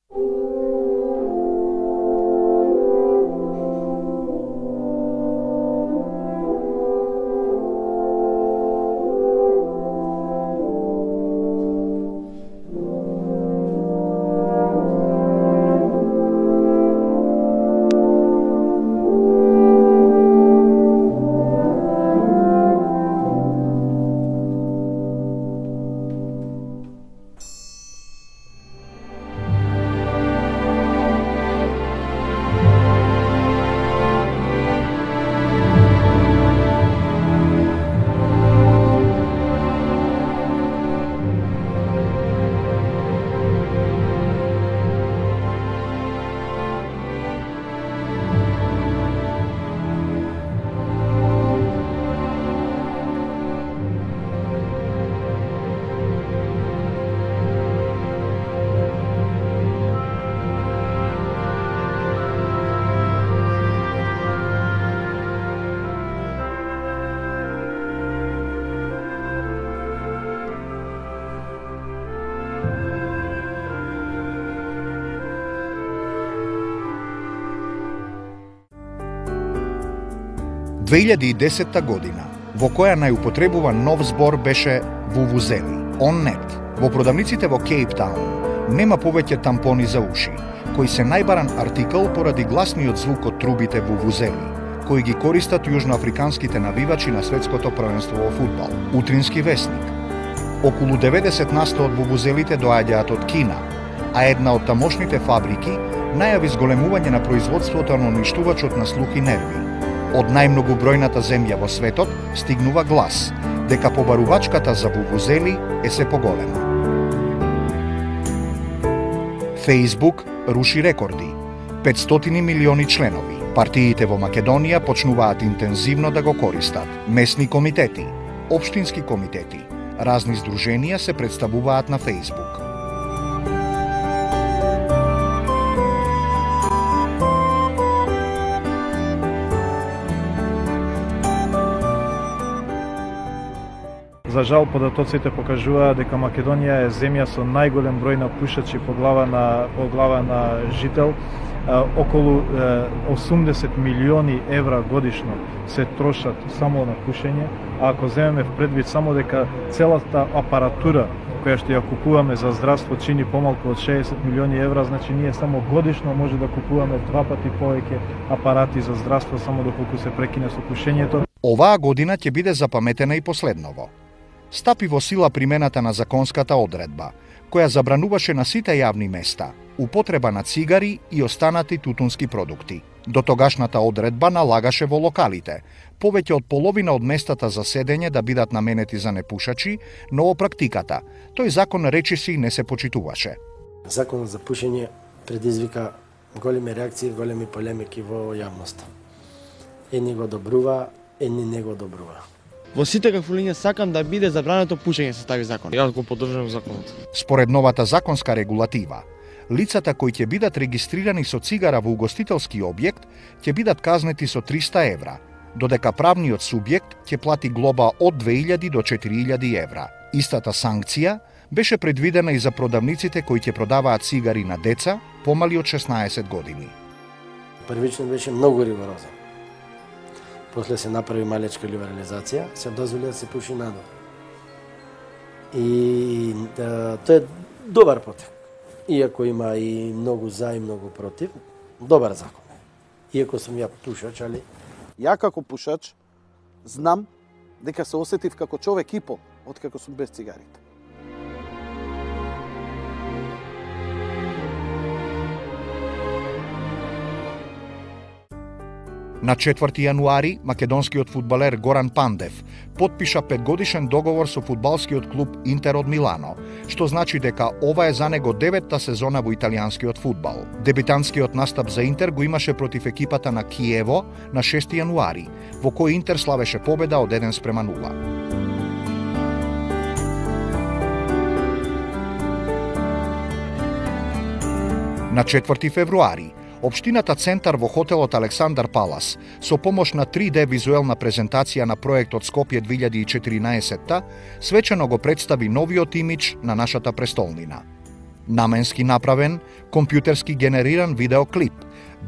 – 2010 година, во која најупотребуван нов збор беше вувузели, оннет. Во продавниците во Кейптаун нема повеќе тампони за уши, кои се најбаран артикл поради гласниот звук од трубите вувузели, кои ги користат јужноафриканските навивачи на светското првенство во фудбал. Утрински весник. Околу 90% од вувузелите доаѓаат од Кина, а една од тамошните фабрики најави зголемување на производството на уништувачот на слух и нерви. Од најмногобројната земја во светот стигнува глас дека побарувачката за вувузели е се поголема. Facebook руши рекорди. 500 милиони членови. Партиите во Македонија почнуваат интензивно да го користат. Месни комитети, општински комитети, разни здруженија се представуваат на Facebook. За жал, податоците покажуваат дека Македонија е земја со најголем број на пушачи по глава на жител. Околу 80 милиони евра годишно се трошат само на пушење, а ако земеме в предвид само дека целата апаратура која што ја купуваме за здравство чини помалку од 60 милиони евра, значи ние само годишно може да купуваме 2 пати повеќе апарати за здравство само доколку се прекине со пушењето. Оваа година ќе биде запаметена и последново. Стапи во сила примената на законската одредба, која забрануваше на сите јавни места употреба на цигари и останати тутунски продукти. До тогашната одредба налагаше во локалите повеќе од половина од местата за седење да бидат наменети за непушачи, но во практиката тој закон речиси не се почитуваше. Законот за пушење предизвика големи реакции, големи полемики во јавноста. Едни го добрува, едни не го добрува. Во сите кафулиња сакам да биде забрането пушење со тави закон. Јас го поддржувам законот. Според новата законска регулатива, лицата кои ќе бидат регистрирани со цигара во угостителски објект ќе бидат казнети со 300 евра, додека правниот субјект ќе плати глоба од 2000 до 4000 евра. Истата санкција беше предвидена и за продавниците кои ќе продаваат цигари на деца помали од 16 години. Првично беше многу rigorозен. После се направи малечка либерализација, се дозволи да се пуши надвор. И тоа е добар потек. Иако има и многу за и многу против, добар закон. Иако сум ја пушач, али... Ја како пушач знам дека се осетив како човек и пол откако сум без цигарите. На 4 јануари македонскиот фудбалер Горан Пандев потпиша 5-годишен договор со фудбалскиот клуб Интер од Милано, што значи дека ова е за него 9-та сезона во италијанскиот фудбал. Дебитантскиот настап за Интер го имаше против екипата на Киево на 6 јануари, во кој Интер славеше победа од 1-0. На 4 февруари Општината Центар во хотелот Александар Палас со помош на 3D визуелна презентација на проектот Скопје 2014 свечено го представи новиот имидж на нашата престолнина. Наменски направен, компјутерски генериран видеоклип,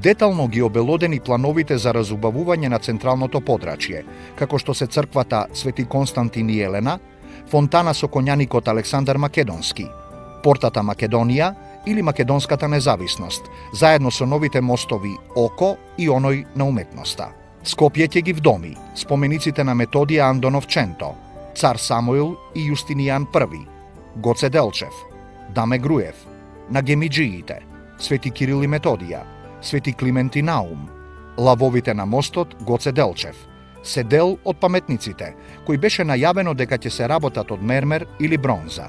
детално ги обелодени плановите за разубавување на централното подрачје, како што се црквата Свети Константин и Елена, фонтана со коњаникот Александар Македонски, портата Македонија или Македонската независност, заедно со новите мостови Око и оној на уметноста. Скопје ќе ги вдоми спомениците на Методија Андонов Ченто, Цар Самуил и Јустинијан I, Гоце Делчев, Даме Груев, на гемиджиите, Свети Кирил и Методија, Свети Климент и Наум, лавовите на мостот Гоце Делчев, се дел од паметниците, кои беше најавено дека ќе се работат од мермер или бронза.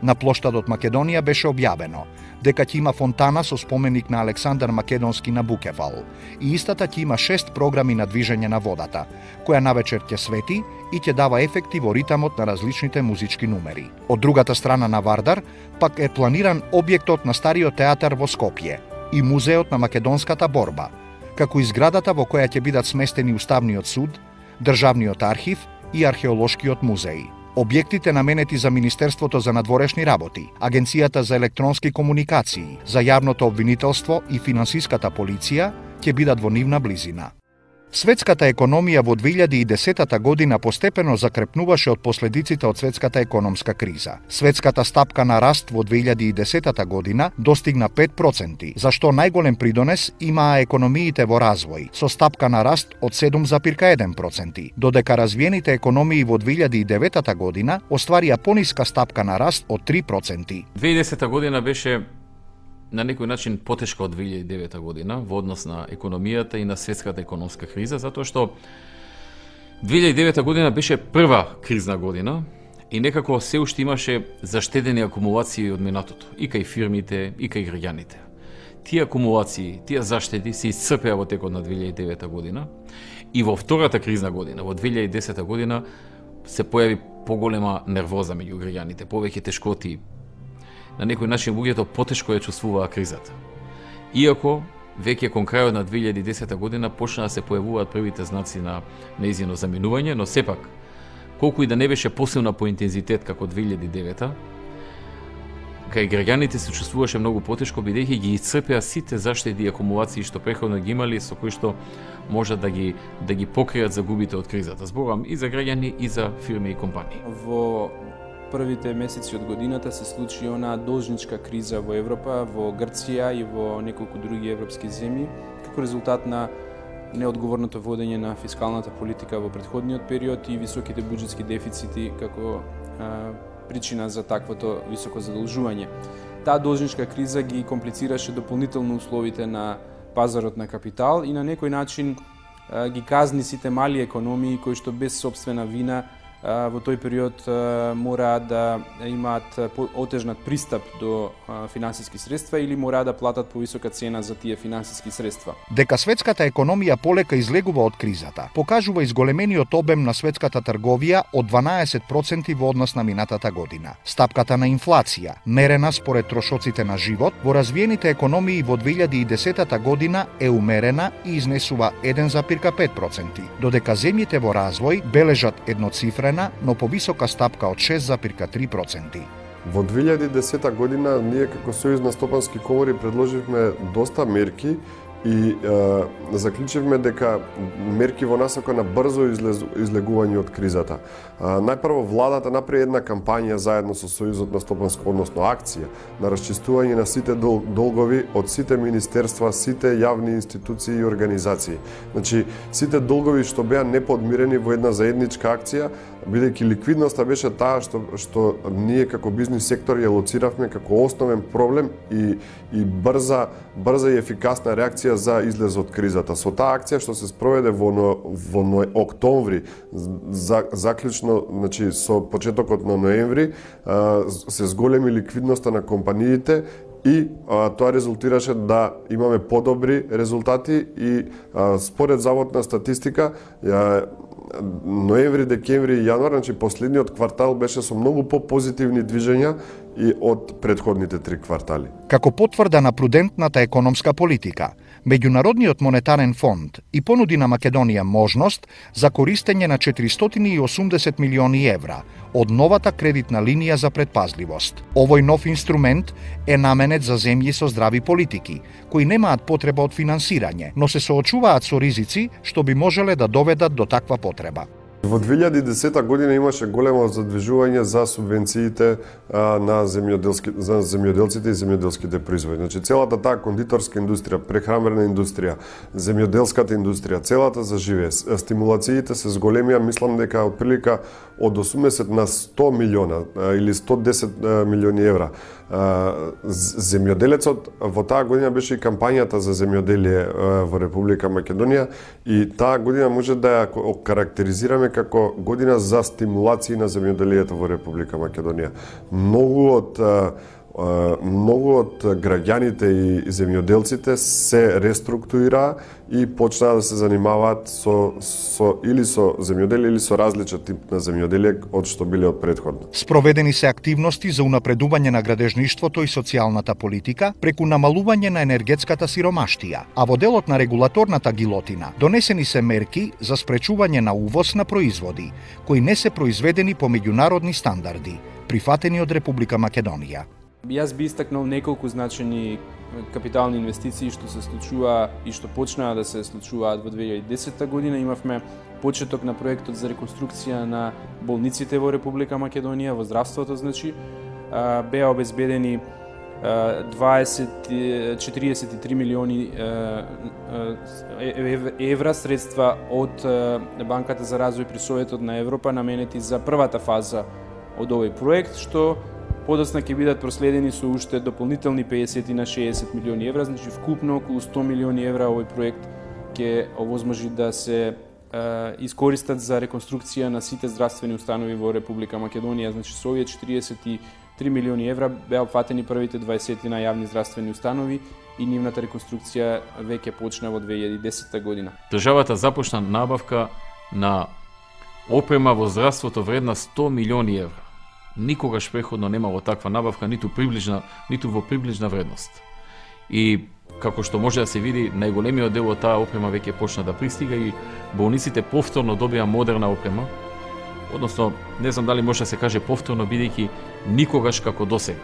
На плоштадот Македонија беше објавено дека ќе има фонтана со споменик на Александар Македонски на Букевал и истата ќе има 6 програми на движење на водата, која навечер ќе свети и ќе дава ефекти во ритамот на различните музички numери. Од другата страна на Вардар пак е планиран објектот на Стариот театар во Скопје и Музеот на македонската борба, како и зградата во која ќе бидат сместени Уставниот суд, Државниот архив и Археолошкиот музеј. Објектите наменети за Министерството за надворешни работи, Агенцијата за електронски комуникации, за јавното обвинителство и финансиската полиција ќе бидат во нивна близина. Светската економија во 2010 година постепено закрепнуваше од последиците од светската економска криза. Светската стапка на раст во 2010 година достигна 5%, за што најголем придонес имаа економиите во развој, со стапка на раст од 7,1%, додека развиените економии во 2009 година остварија пониска стапка на раст од 3%. 2010 година беше на некој начин потешка од 2009 година во однос на економијата и на светската економска криза, затоа што 2009 година беше прва кризна година и некако се уште имаше заштедени акумулации од минатото, и кај фирмите, и кај граѓаните. Тие акумулации, тие заштеди се исцрпеа во текот на 2009 година и во втората кризна година, во 2010 година, се појави поголема нервоза меѓу граѓаните, повеќе тешкоти. На некој начин луѓето потешко ја чувствуваа кризата. Иако веќе кон крајот на 2010 година почна да се појавуваат првите знаци на нејзино заминување, но сепак колку и да не беше посилна по интензитет како 2009, кај граѓаните се чувствуваше многу потешко бидејќи ги исцрпеа сите заштеди и акумулации што претходно ги имале, со кои што може да ги покријат загубите од кризата. Зборам и за граѓани и за фирми и компании. Во првите месеци од годината се случи она должничка криза во Европа, во Грција и во неколку други европски земји, како резултат на неодговорното водење на фискалната политика во претходниот период и високите буџетски дефицити како причина за таквото високо задолжување. Таа должничка криза ги комплицираше дополнително условите на пазарот на капитал и на некој начин ги казни сите мали економии кои што без собствена вина во тој период мораат да имаат отежнат пристап до финансиски средства или мораат да платат повисока цена за тие финансиски средства. Дека светската економија полека излегува од кризата, покажува изголемениот обем на светската трговија од 12% во однос на минатата година. Стапката на инфлација, мерена според трошоците на живот, во развиените економии во 2010 година е умерена и изнесува 1,5%, додека земјите во развој бележат едноцифрен, но повисока стапка од 6,3%. Во 2010 година ние како Сојуз на стопански комори предложивме доста мерки и заклучивме дека мерки во насока на брзо излегување од кризата. Најпрво владата направи една кампања заедно со Сојузот на стопанско, односно акција на расчистување на сите долгови од сите министерства, сите јавни институции и организации. Значи, сите долгови што беа неподмирени во една заедничка акција, бидејќи ликвидноста беше таа што ние како бизнис сектор ја лоциравме како основен проблем и брза и ефикасна реакција за излез од кризата. Со таа акција што се спроведе во октомври, заклучно, значи со почетокот на ноември, се зголеми ликвидноста на компаниите и тоа резултираше да имаме подобри резултати и според Завод на статистика ноември, декември и јануар, значи последниот квартал беше со многу попозитивни движења и од претходните 3 квартали. Како потврда на прудентната економска политика, Меѓународниот монетарен фонд и понуди на Македонија можност за користење на 480 милиони евра од новата кредитна линија за предпазливост. Овој нов инструмент е наменет за земји со здрави политики, кои немаат потреба од финансирање, но се соочуваат со ризици што би можеле да доведат до таква потреба. Во 2010 година имаше големо задвижување за субвенциите на земјоделците и земјоделските производи. Значи целата таа кондиторска индустрија, прехранбена индустрија, земјоделската индустрија, целата заживее. Стимулациите се зголемија, мислам дека отприлика од 80 на 100 милиона или 110 милиони евра. Земјоделецот во таа година беше и кампањата за земјоделие во Република Македонија и таа година може да ја карактеризираме како година за стимулации на земјоделието во Република Македонија. Многу од граѓаните и земјоделците се реструктурираа и почнаа да се занимаваат или со земјоделие или со различен тип на земјоделие од што биле од претходно. Спроведени се активности за унапредување на градежништвото и социјалната политика преку намалување на енергетската сиромаштија, а во делот на регулаторната гилотина донесени се мерки за спречување на увоз на производи кои не се произведени по меѓународни стандарди, прифатени од Република Македонија. Јас би истакнал неколку значени капитални инвестиции што се случува и што почнаа да се случуваат во 2010 година. Имавме почеток на проектот за реконструкција на болниците во Република Македонија, во здравството, значи, беа обезбедени 43 милиони евра средства од Банката за развој при Советот на Европа наменети за првата фаза од овој проект, што подоцна ќе бидат проследени со уште дополнителни 50 на 60 милиони евра, значи вкупно околу 100 милиони евра овој проект ќе овозможи да се искористат за реконструкција на сите здравствени установи во Република Македонија. Значи со овие 43 милиони евра беа опфатени првите 20 на јавни здравствени установи и нивната реконструкција веќе почна во 2010 година. Државата започна набавка на опрема во здравството вредна 100 милиони евра. Никогаш преходно немало таква набавка, ниту во приближна вредност. И како што може да се види, најголемиот дел од таа опрема веќе почна да пристига и болниците повторно добија модерна опрема. Односно, не знам дали може да се каже повторно, бидејќи никогаш како досега.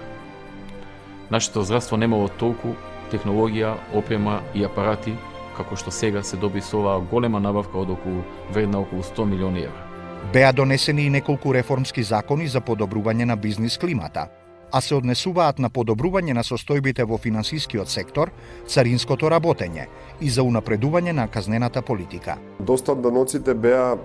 Нашето здравство немало толку технологија, опрема и апарати како што сега се доби со оваа голема набавка од вредна околу 100 милиони евра. Беа донесени и неколку реформски закони за подобрување на бизнис климата, а се однесуваат на подобрување на состојбите во финансискиот сектор, царинското работење и за унапредување на казнената политика. Доста од даноците беа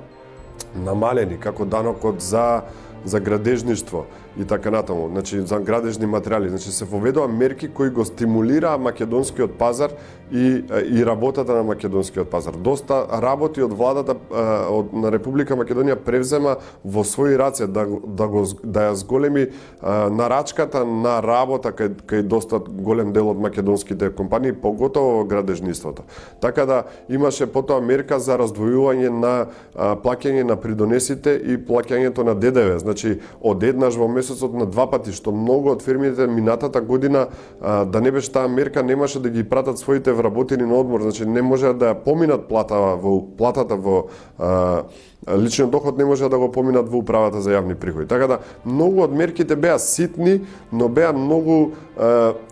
намалени, како данокот за градежништво и така натаму, значи за градежни материјали, значи се воведоа мерки кои го стимулираа македонскиот пазар и работата на македонскиот пазар. Доста работи од владата на Република Македонија превзема во своји раце да ја зголеми нарачката на работа кај доста голем дел од македонските компании, поготово во градежниството. Така да имаше потоа мерка за раздвојување на плаќање на придонесите и плаќањето на ДДВ, значи од еднаш во месецот на 2 пати, што многу од фирмите минатата година да не беше таа мерка, немаше да ги пратат своите вработени на одмор, значи не може да ја поминат платата во личниот доход, не може да го поминат во управата за јавни приходи. Така да многу од мерките беа ситни, но беа многу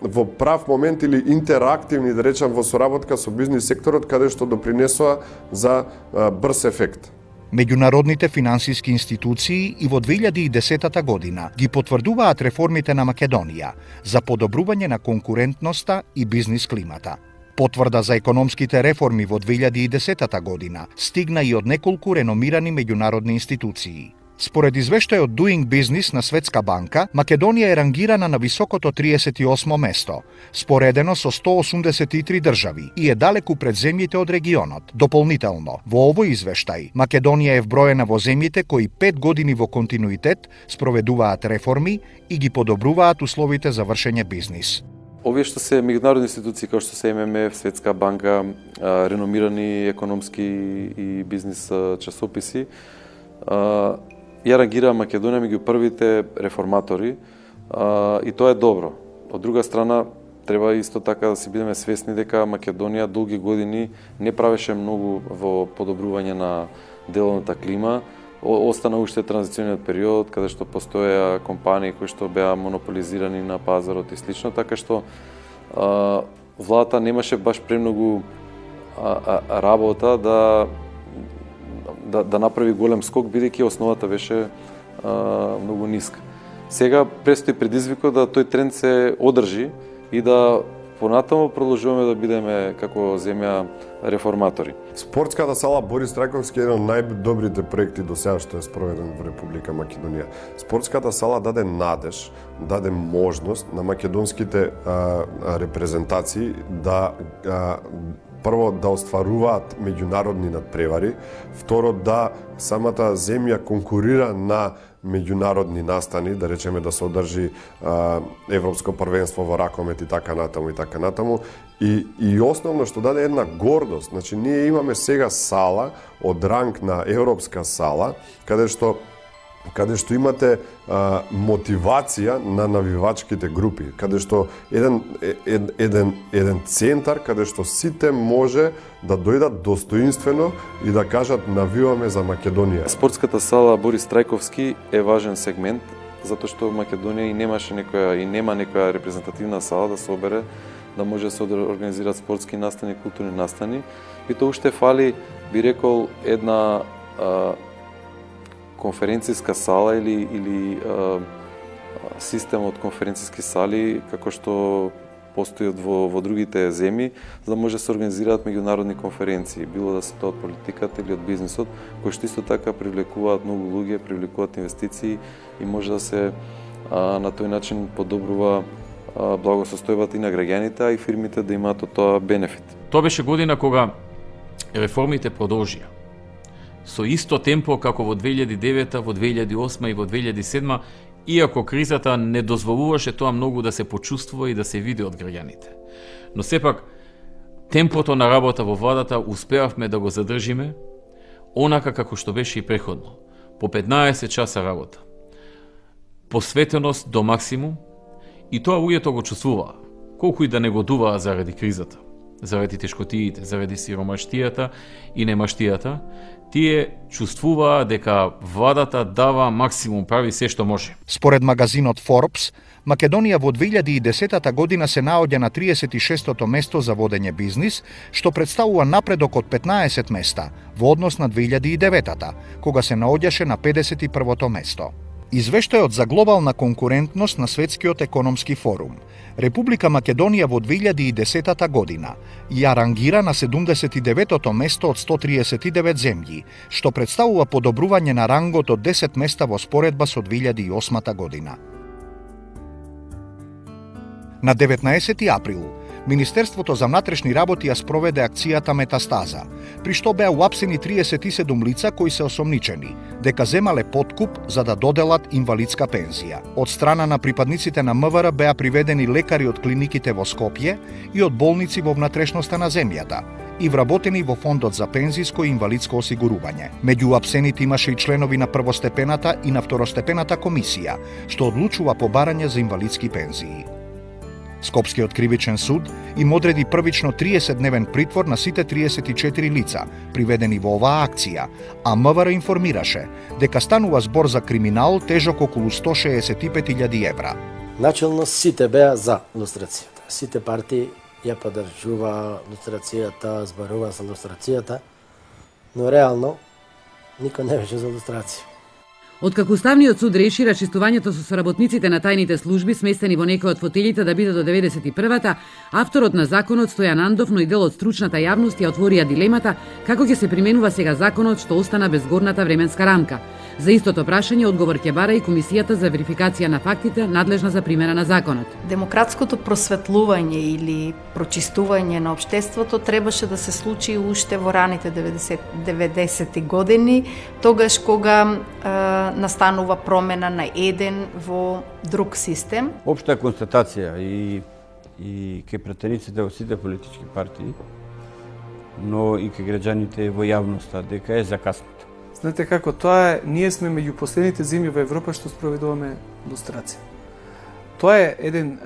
во прав момент или интерактивни, да речам, во соработка со бизнис секторот, каде што допринесоа за брз ефект. Меѓународните финансиски институции и во 2010 година ги потврдуваат реформите на Македонија за подобрување на конкурентноста и бизнис климата. Потврда за економските реформи во 2010 година стигна и од неколку реномирани меѓународни институции. Според извештајот Doing Business на Светска банка, Македонија е рангирана на високото 38 место, споредено со 183 држави и е далеку пред земјите од регионот. Дополнително, во овој извештај, Македонија е вброена во земјите кои 5 години во континуитет спроведуваат реформи и ги подобруваат условите за вршење бизнис. Овие што се меѓународни институции како што се ММФ, Светска банка, реномирани економски и бизнис часописи, ја рангира Македонија меѓу првите реформатори и тоа е добро. Од друга страна, треба исто така да си бидеме свесни дека Македонија долги години не правеше многу во подобрување на деловната клима. Остана уште транзициониот период, каде што постоеа компании кои што беа монополизирани на пазарот и слично, така што владата немаше баш премногу работа да направи голем скок, бидејќи основата беше многу ниска. Сега престои предизвикот да тој тренд се одржи и да понатаму продолжуваме да бидеме како земја реформатори. Спортската сала Борис Трајковски е еден од најдобрите проекти до сега што е спроведен во Република Македонија. Спортската сала даде надеж, даде можност на македонските репрезентации да прво да остваруваат меѓународни надпревари, второ да самата земја конкурира на меѓународни настани, да речеме да се одржи Европско првенство во ракомет и така натаму. И основно што даде една гордост, значи ние имаме сега сала од ранг на европска сала, каде што имате мотивација на навивачките групи, каде што еден центар каде што сите може да дојдат достоинствено и да кажат навиваме за Македонија. Спортската сала Борис Трајковски е важен сегмент, затоа што Македонија и нема некоја репрезентативна сала да се обере, да може да се организираат спортски настани, културни настани, и тоа уште фали, би рекол, една конференцијска сала или систем од конференцијски сали, како што постојат во другите земји, за да може да се организираат меѓународни конференции, било да се тоа од политиката или од бизнисот, кои што исто така привлекуваат многу луѓе, привлекуваат инвестиции и може да се на тој начин подобрува благосостојбата и на граѓаните, а и фирмите да имаат од тоа бенефит. Тоа беше година кога реформите продолжија. Со исто темпо како во 2009, во 2008 и во 2007, иако кризата не дозволуваше тоа многу да се почувствува и да се види од граѓаните. Но сепак, темпото на работа во владата успеавме да го задржиме, онака како што беше и преходно. По 15 часа работа. Посветеност до максимум, и тоа луѓето го чувствуваа, колку и да негодуваа заради кризата, заради тешкотиите, заради сиромаштијата и немаштијата, тие чувствуваа дека владата дава максимум, прави се што може. Според магазинот Forbes, Македонија во 2010 година се наоѓа на 36-то место за водење бизнис, што представува напредок од 15 места во однос на 2009-та, кога се наоѓаше на 51-то место. Извештајот за глобална конкурентност на Светскиот економски форум. Република Македонија во 2010 година ја рангира на 79-то место од 139 земји, што представува подобрување на рангот од 10 места во споредба со 2008 година. На 19 април, Министерството за внатрешни работи ја спроведе акцијата Метастаза, при што беа уапсени 37 лица кои се осомничени дека земале подкуп за да доделат инвалидска пензија. Од страна на припадниците на МВР беа приведени лекари од клиниките во Скопје и од болници во внатрешноста на земјата и вработени во Фондот за пензиско и инвалидско осигурување. Меѓу уапсените имаше и членови на првостепената и на второстепената комисија, што одлучува по барање за инвалидски пензии. Скопскиот кривичен суд им одреди првично 30-дневен притвор на сите 34 лица, приведени во оваа акција, а МВР информираше дека станува збор за криминал тежок околу 165.000 евра. Начелно сите беа за лустрацијата. Сите партии ја поддржува лустрацијата, зборува за лустрацијата, но реално никој не беше за лустрација. Откако Уставниот суд реши рачистувањето со соработниците на тајните служби сместени во некои од фотелите да биде до 91-та, авторот на законот Стојан Андов, но и дел од стручната јавност ја отворија дилемата како ќе се применува сега законот што остана без горната временска рамка. За истото прашање одговор ќе бара и Комисијата за верификација на фактите, надлежна за примена на законот. Демократското просветлување или прочистување на општеството требаше да се случи уште во раните 90-ти години, тогаш кога настанува промена на еден во друг систем. Општа констатација и и кај пратениците во сите политички партии, но и кај граѓаните во јавноста дека е закаснато. Знаете како, тоа е, ние сме меѓу последните земји во Европа што спроведуваме лустрација. Тоа е еден,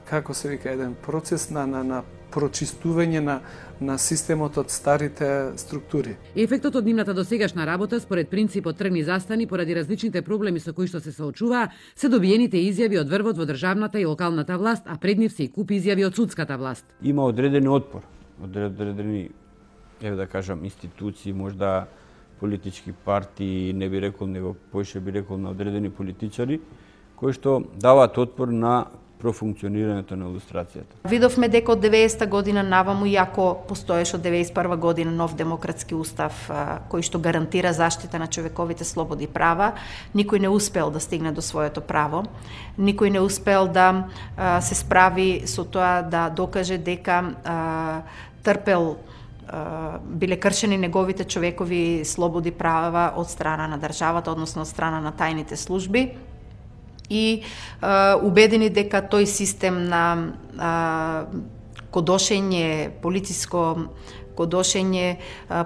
како се вика, еден процес на прочистување на системот од старите структури. Ефектот од нивната досегашна работа според принципот тргни застани поради различните проблеми со кои што се соочуваа, се добиените изјави од врвот во државната и локалната власт, а пред нив се и куп изјави од судската власт. Има одредени отпор, одредени, да кажам, институции, можда политички партии, не би рекол, него поише би рекол на одредени политичари, кои што даваат отпор на профункционирањето на илустрацијата. Видовме дека од 90-та година наваму, иако постоеше од 91 година нов демократски устав кој што гарантира заштита на човековите слободи и права, никој не успел да стигне до своето право, никој не успел да се справи со тоа да докаже дека трпел биле кршени неговите човекови слободи права од страна на државата, односно од страна на тајните служби, и убедени дека тој систем на кодошење, политичко кодошење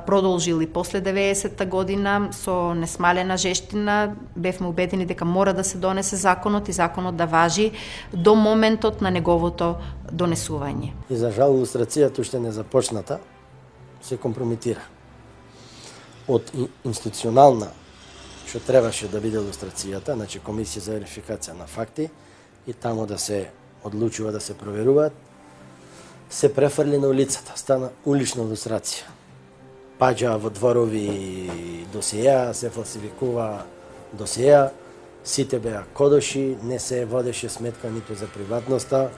продолжил и после 90-та година со несмалена жештина. Бевме убедени дека мора да се донесе законот и законот да важи до моментот на неговото донесување. И за жал илустрацијата уште не започната, се компрометира. Од институционална што требаше да биде илустрацијата, значи комисија за верификација на факти, и таму да се одлучува да се проверуваат, се префрли на улицата, стана улична илустрација. Паѓа во дворови досиеа, се фалсификува досиеа, сите беа кодоши, не се водеше сметка ниту за приватноста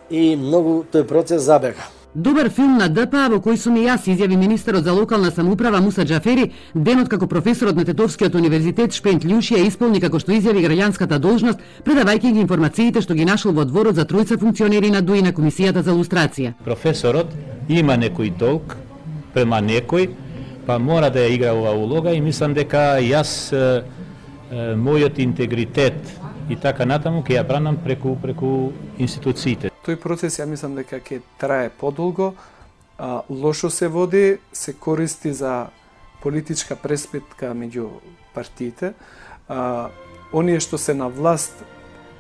и многу тој процес забега. Добар филм на ДПА во кој сум и јас, изјави министерот за локална самоуправа Муса Џафери, денот како професорот на Тетовскиот универзитет Шпент Љушија исполни како што изјави граѓанската должност, предавајќи ги информациите што ги нашол во дворот за тројца функционери на ДУИ на комисијата за лустрација. Професорот има некој долг према некој, па мора да ја игра оваа улога и мислам дека јас мојот интегритет и така натаму ќе ја бранам преку институциите. Тој процес ја мислам дека ќе трае подолго, лошо се води, се користи за политичка преспитка меѓу партиите. Оние што се на власт,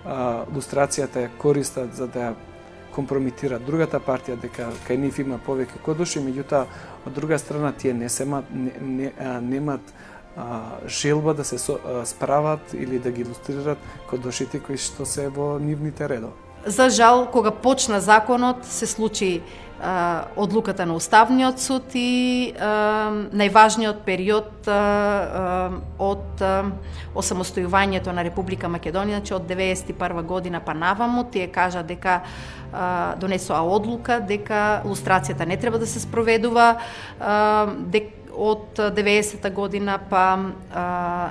лустрацијата ја користат за да ја компрометираат другата партија, дека кај нив има повеќе кодоши, меѓутоа од друга страна тие немаат желба да се справат или да ги илустрират кодошите кои што се во нивните редови. За жал, кога почна законот, се случи одлуката на Уставниот суд и најважниот период од осамостојувањето на Република Македонија, значи од 91 година па наваму, тие кажа дека донесоа одлука дека лустрацијата не треба да се спроведува, од 90-та година па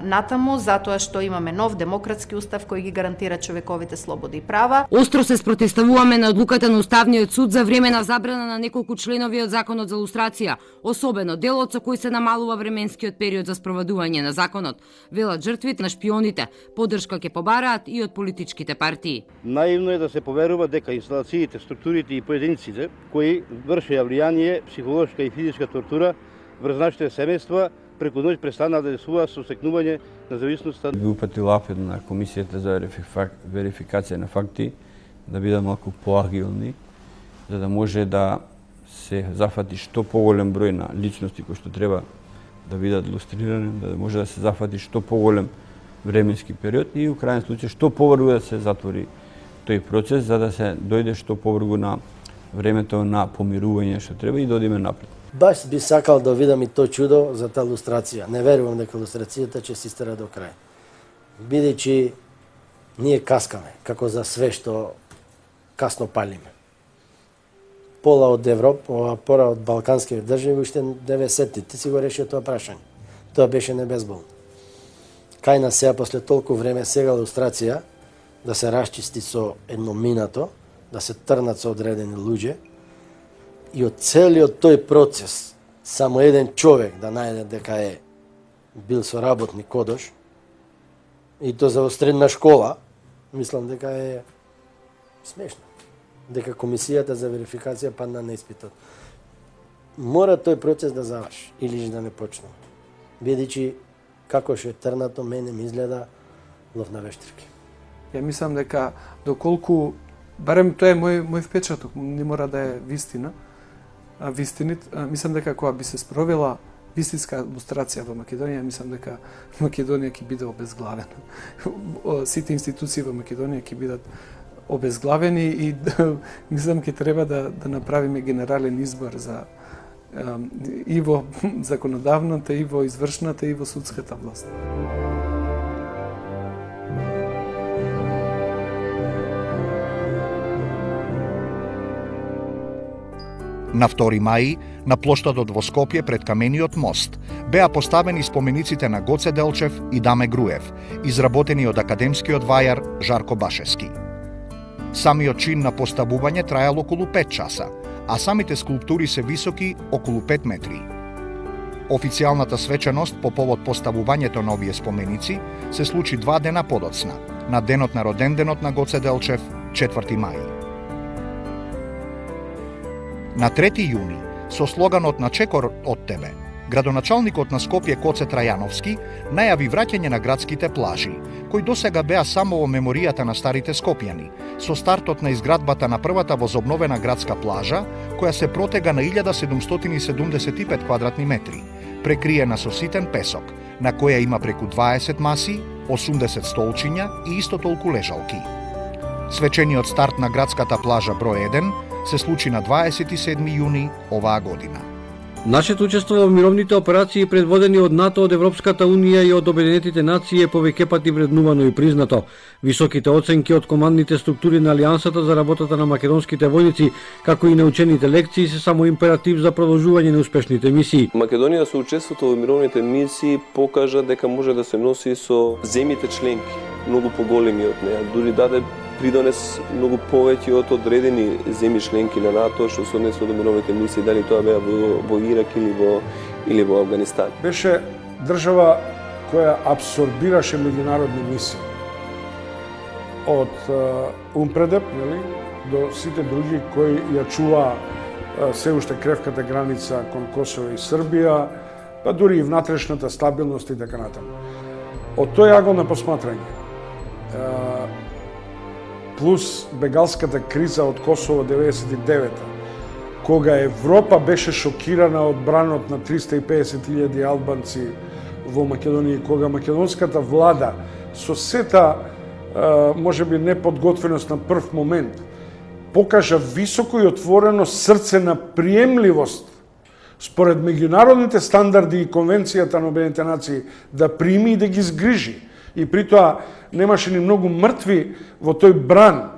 натаму, затоа што имаме нов демократски устав кој ги гарантира човековите слободи и права. Остро се спротивставуваме на одлуката на Уставниот суд за време на забрана на неколку членови од законот за лустрација, особено делот со кој се намалува временскиот период за спроведување на законот. Велат жртвите на шпионите, поддршка ќе побараат и од политичките партии. Наивно е да се поверува дека инсталациите, структурите и поединците кои вршеа влијание, психолошка и физичка тортура врз нашите семејства преку ноќ престана да действува со стекнување на зависноста. Би упатил апел на комисијата за верификација на факти да бидат малку поагилни, за да може да се зафати што поголем број на личности кои што треба да бидат лустрирани, да може да се зафати што поголем временски период и у крајен случај што побрзо да се затвори тој процес за да се дојде што побрзо на времето на помирување што треба и да одиме напред. Баш би сакал да видам и тој чудо за таа лустрација. Не верувам дека лустрацијата ќе се истера до крај. Бидејќи ние каскаме, како за све што касно палиме. Пола од Европа, пора од балканските држави, уште 90-тите си го решија тоа прашање. Тоа беше небезболно. Кај нас сега, после толку време, сега лустрација, да се расчисти со едно минато, да се трнат со одредени луѓе, и од целиот тој процес, само еден човек да најде дека е бил соработник кодош, и то за средна школа, мислам дека е смешно. дека комисијата за верификација падна на испитот. Мора тој процес да заврши или да не почне. Бидејќи како што е трнато, мене ми изгледа лов на вештирки. Ја мислам дека доколку, барем тоа е мој впечаток, не мора да е вистина, мислам дека кога би се спровела вистинска лустрација во Македонија, мислам дека Македонија ќе биде обезглавена. Сите институции во Македонија ќе бидат обезглавени и мислам ќе треба да направиме генерален избор за и во законодавната, и во извршната, и во судската власт. На 2 мај, на плоштадот во Скопје пред камениот мост, беа поставени спомениците на Гоце Делчев и Даме Груев, изработени од академскиот вајар Жарко Башевски. Самиот чин на поставување траел околу 5 часа, а самите скулптури се високи околу 5 метри. Официјалната свеченост по повод поставувањето на овие споменици се случи 2 дена подоцна, на денот на роденденот на Гоце Делчев, 4 мај. На 3 јуни, со слоганот "На чекор од тебе", градоначалникот на Скопје Коце Трајановски најави враќање на градските плажи, кои досега беа само во меморијата на старите скопјани, со стартот на изградбата на првата возобновена градска плажа, која се протега на 1775 квадратни метри, прекриена со ситен песок, на која има преку 20 маси, 80 столчиња и исто толку лежалки. Свечениот старт на градската плажа број 1 се случи на 27 јуни оваа година. Нашето учество во мировните операции предводени од НАТО, од Европската Унија и од Обединетите нации е повеќе пати вреднувано и признато. Високите оценки од командните структури на Алијансата за работата на македонските војници, како и научените лекции, се само императив за продолжување на успешните мисии. Македонија со учеството во мировните мисии покажа дека може да се носи со земјите членки, многу поголеми од неа, дури даде придонес многу повеќе од одредени земји членки на НАТО што се однесува до мировните мисии, дали тоа беа во Ирак или во Афганистан. Беше држава која абсорбираше меѓународни мисии. Од Умпредеп, до сите други кои ја чуваа се уште кревката граница кон Косово и Србија, па дури и внатрешната стабилност и така натаму. Од тој агол на посматрање, плюс бегалската криза од Косово 99-та, кога Европа беше шокирана од бранот на 350.000 албанци во Македонија, кога македонската влада со сета можеби неподготвеност на прв момент покажа високо и отворено срце на приемливост според меѓународните стандарди и конвенцијата на Обединетите нации да прими и да ги згрижи. И при тоа немаше ни многу мртви во тој бран.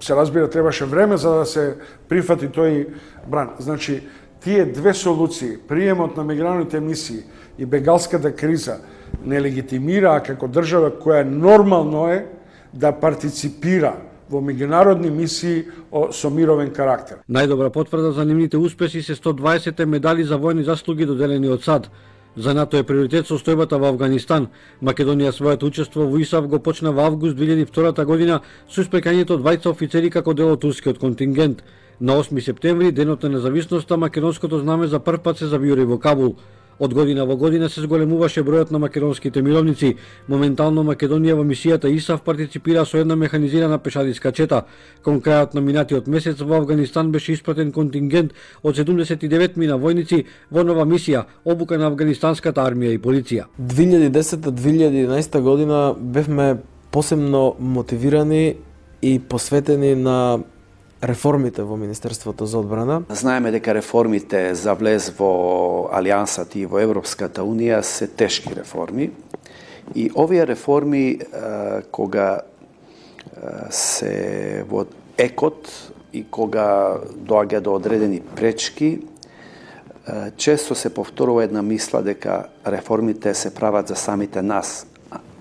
Се разбира, требаше време за да се прифати тој бран. Значи, тие две солуции, приемот на мигрантните мисии и бегалската криза, не легитимираа како држава која нормално е да партиципира во меѓународни мисии со мировен карактер. Најдобра потврда за нивните успеси се 120 медали за војни заслуги доделени од САД. За НАТО е приоритет состојбата во Афганистан. Македонија своето учество во ИСАФ го почна во август 2002 година со испрекањето од 20 офицери како дел од турскиот контингент. На 8 септември, денот на независноста, македонското знаме за прв пат се завиори во Кабул. Од година во година се зголемуваше бројот на македонските мировници. Моментално Македонија во мисијата ИСАФ партиципира со една механизирана пешадиска чета. Кон крајот на минатиот месец во Афганистан беше испратен контингент од 79 мина војници во нова мисија, обука на афганистанската армија и полиција. 2010-2011 година бевме посебно мотивирани и посветени на реформите во Министерството за одбрана. Знаеме дека реформите за влез во Алијансата и во Европската Унија се тешки реформи. И овие реформи, кога се во екот и кога доаѓа до одредени пречки, често се повторува една мисла дека реформите се прават за самите нас,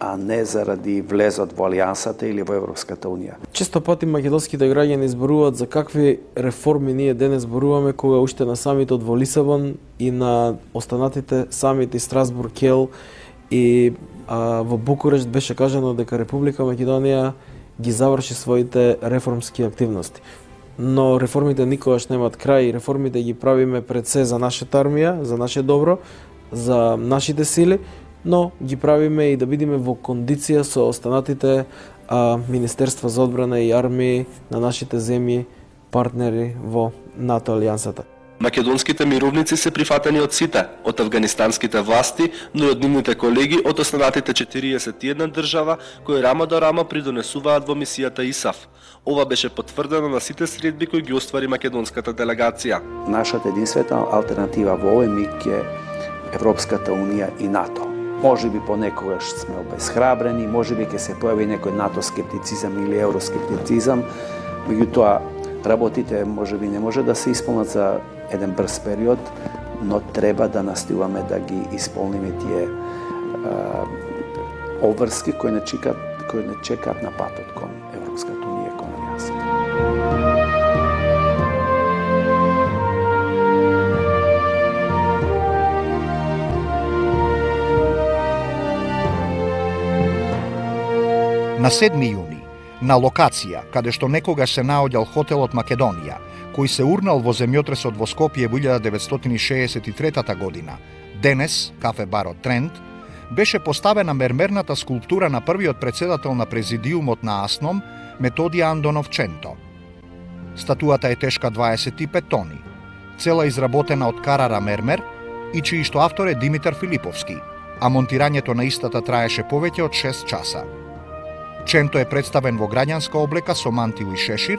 а не заради влезот во Алијансата или во Европската Унија. Често пати македонските граѓани зборуваат за какви реформи ние денес зборуваме, кога уште на самитот во Лисабон и на останатите самити Страсбург, Кел и во Букурешт беше кажано дека Република Македонија ги заврши своите реформски активности. Но реформите никогаш немаат крај, реформите ги правиме пред се за нашата армија, за наше добро, за нашите сили, но ги правиме и да бидеме во кондиција со останатите Министерства за одбрана и армии на нашите земји, партнери во НАТО алијансата. Македонските мировници се прифатени од сите, од афганистанските власти, но и од нивните колеги од останатите 41 држава кои рама до рама придонесуваат во мисијата ИСАФ. Ова беше потврдено на сите средби кои ги оствари македонската делегација. Нашата единствена алтернатива во овој миг е Европската унија и НАТО. Може би понекогаш сме обесхрабрени, може би ќе се појави некој НАТО скептицизам или евроскептицизам, меѓутоа работите може би не може да се исполнат за еден брз период, но треба да настојуваме да ги исполниме тие обврски кои не чекаат на патот кон Европската унија, кон алијансата. На 7 јуни, на локација, каде што некогаш се наоѓал хотелот Македонија, кој се урнал во земјотресот во Скопје во 1963 година, денес, кафе барот Тренд, беше поставена мермерната скулптура на првиот председател на президиумот на АСНОМ, Методија Андонов Ченто. Статуата е тешка 25 тони, цела изработена од карара мермер и чијшто автор е Димитар Филиповски, а монтирањето на истата траеше повеќе од 6 часа. Ченто е представен во граѓанска облека со мантил и шешир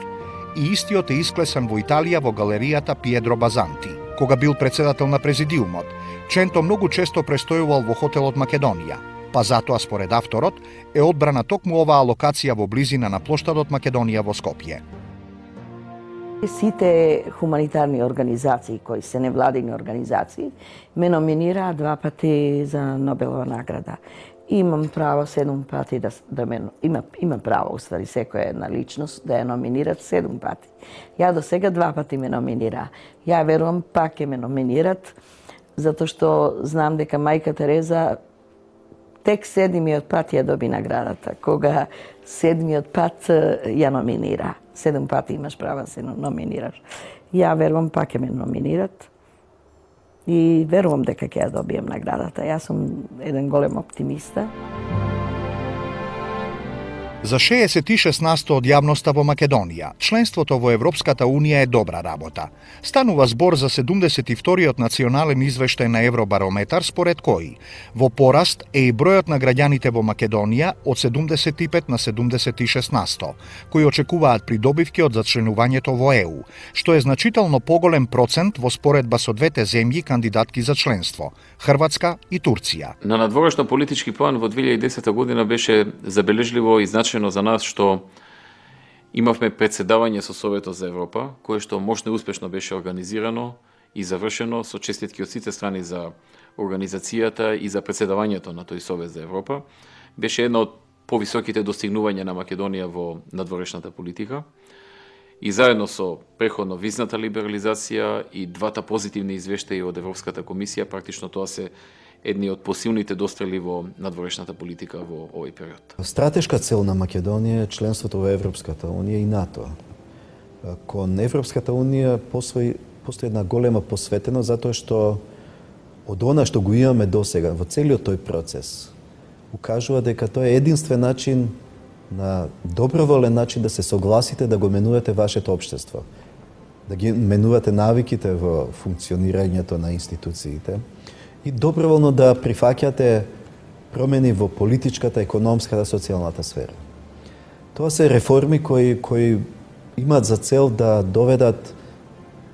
и истиот е исклесан во Италија во галеријата Пиедро Базанти. Кога бил председател на президиумот, Ченто многу често престојувал во хотелот Македонија, па затоа според авторот е одбрана токму оваа локација во близина на плоштадот Македонија во Скопје. Сите хуманитарни организации кои се невладини организации ме номинираат 2 пати за Нобелова награда. Имам право 7 пати да ме има право уствари секоја една личност да ја номинират 7 пати. Ја до сега 2 пати ме номинира. Ја верувам пак ќе ме номинират затоа што знам дека мајка Тереза тек 7-миот пат ја доби наградата, кога 7-миот пат ја номинира. 7 пати имаш право да се номинираш. Ја верувам пак ќе ме номинират. И верувам дека ќе ја добием наградата. Јас сум еден голем оптимиста. За 66% од јавноста во Македонија, членството во Европската унија е добра работа. Станува збор за 72-иот национален извештај на Евробарометар, според кој во пораст е и бројот на граѓаните во Македонија од 75 на 76%, кои очекуваат придобивки од зачленувањето во ЕУ, што е значително поголем процент во споредба со двете земји кандидатки за членство – Хрватска и Турција. На надворешно политички план во 2010 година беше забележливо и значено за нас што имавме председавање со Советот за Европа, кое што мощно и успешно беше организирано и завршено со честитки од сите страни за организацијата и за председавањето на тој Совет за Европа. Беше една од повисоките достигнувања на Македонија во надворешната политика. И заедно со преходно визната либерализација и двата позитивни извештаи од Европската комисија, практично тоа се едни од посилните дострели во надворешната политика во овој период. Стратешка цел на Македонија е членството во Европската унија и НАТО. Кон Европската унија постои една голема посветеност затоа што од она што го имаме досега во целиот тој процес укажува дека тоа е единствен начин, на доброволен начин да се согласите да го менувате вашето општество, да ги менувате навиките во функционирањето на институциите и доброволно да прифаќате промени во политичката, економската, социјалната сфера. Тоа се реформи кои имаат за цел да доведат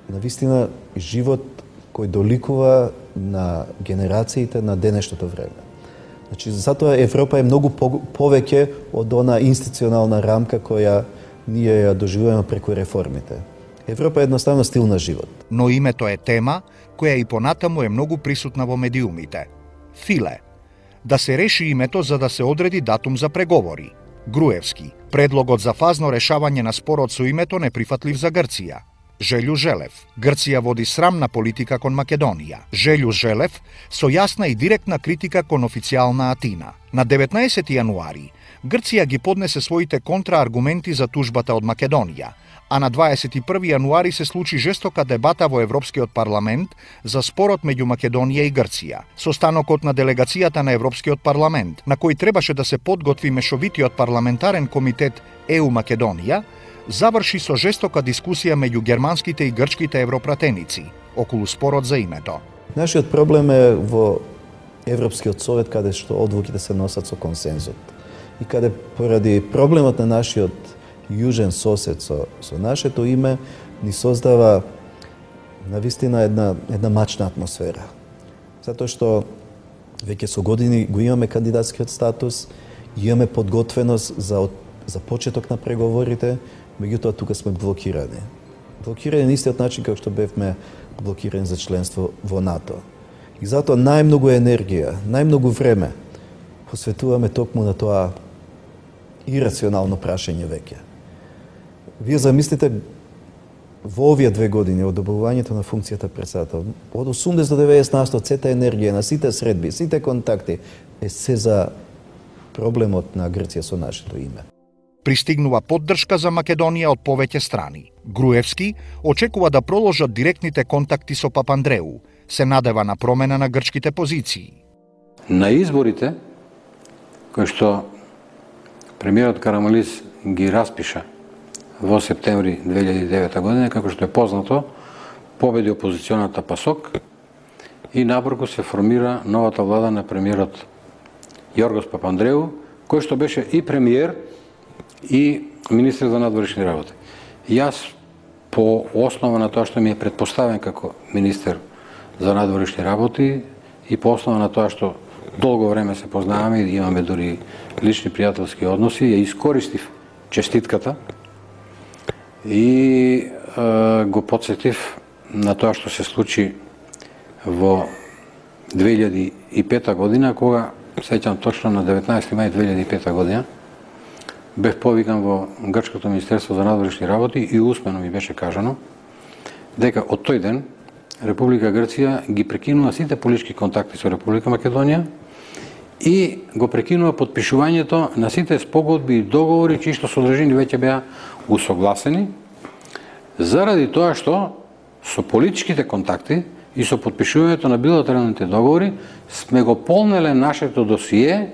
навистина живот кој доликува на генерациите на денешното време. Значи, затоа Европа е многу повеќе од она институционална рамка која ние ја доживуваме преку реформите. Европа е едноставно стил на живот. Но името е тема која и понатаму е многу присутна во медиумите. Филе. Да се реши името за да се одреди датум за преговори. Груевски. Предлогот за фазно решавање на спорот со името неприфатлив за Грција. Желју Желев. Грција води срамна политика кон Македонија. Желју Желев со јасна и директна критика кон официјална Атина. На 19 јануари Грција ги поднесе своите контрааргументи за тужбата од Македонија, а на 21 јануари се случи жестока дебата во Европскиот парламент за спорот меѓу Македонија и Грција. Состанокот на делегацијата на Европскиот парламент, на кој требаше да се подготви мешовитиот парламентарен комитет ЕУ Македонија, заврши со жестока дискусија меѓу германските и грчките европратеници околу спорот за името. Нашиот проблем е во Европскиот совет, каде што одлуките се носат со консензус. И каде поради проблемот на нашиот јужен сосед со нашето име ни создава навистина една мачна атмосфера. Затоа што веќе со години го имаме кандидатскиот статус, имаме подготвеност за почеток на преговорите, меѓутоа тука сме блокирани. Блокирани на истиот начин како што бевме блокирани за членство во НАТО. И затоа најмногу енергија, најмногу време посветуваме токму на тоа ирационално прашање веќе. Вие замислите во овие 2 години од добивањето на функцијата председател, од 80 до 90% сета енергија на сите средби, сите контакти е се за проблемот на Грција со нашето име. Пристигнува поддршка за Македонија од повеќе страни. Груевски очекува да проложат директните контакти со Папандреу, се надева на промена на грчките позиции. На изборите, кои што премиерот Карамалис ги распиша во септември 2009 година, како што е познато, победи опозиционата ПАСОК и набрзо се формира новата влада на премиерот Јоргос Папандреу, кој што беше и премиер и министер за надворешни работи. Јас, по основа на тоа што ми е предпоставен како министер за надворешни работи и по основа на тоа што долго време се познаваме и имаме дури лични пријателски односи, ја искористив честитката и го подсетив на тоа што се случи во 2005 година, кога, сеќам точно на 19 мај 2005 година, бев повикан во Грчкото министерство за надворешни работи и усмено ми беше кажано дека од тој ден Република Грција ги прекинува сите политички контакти со Република Македонија и го прекинува подпишувањето на сите спогодби и договори чии што содржини веќе беа усогласени, заради тоа што со политичките контакти и со подпишувањето на билатералните договори сме го полнеле нашето досие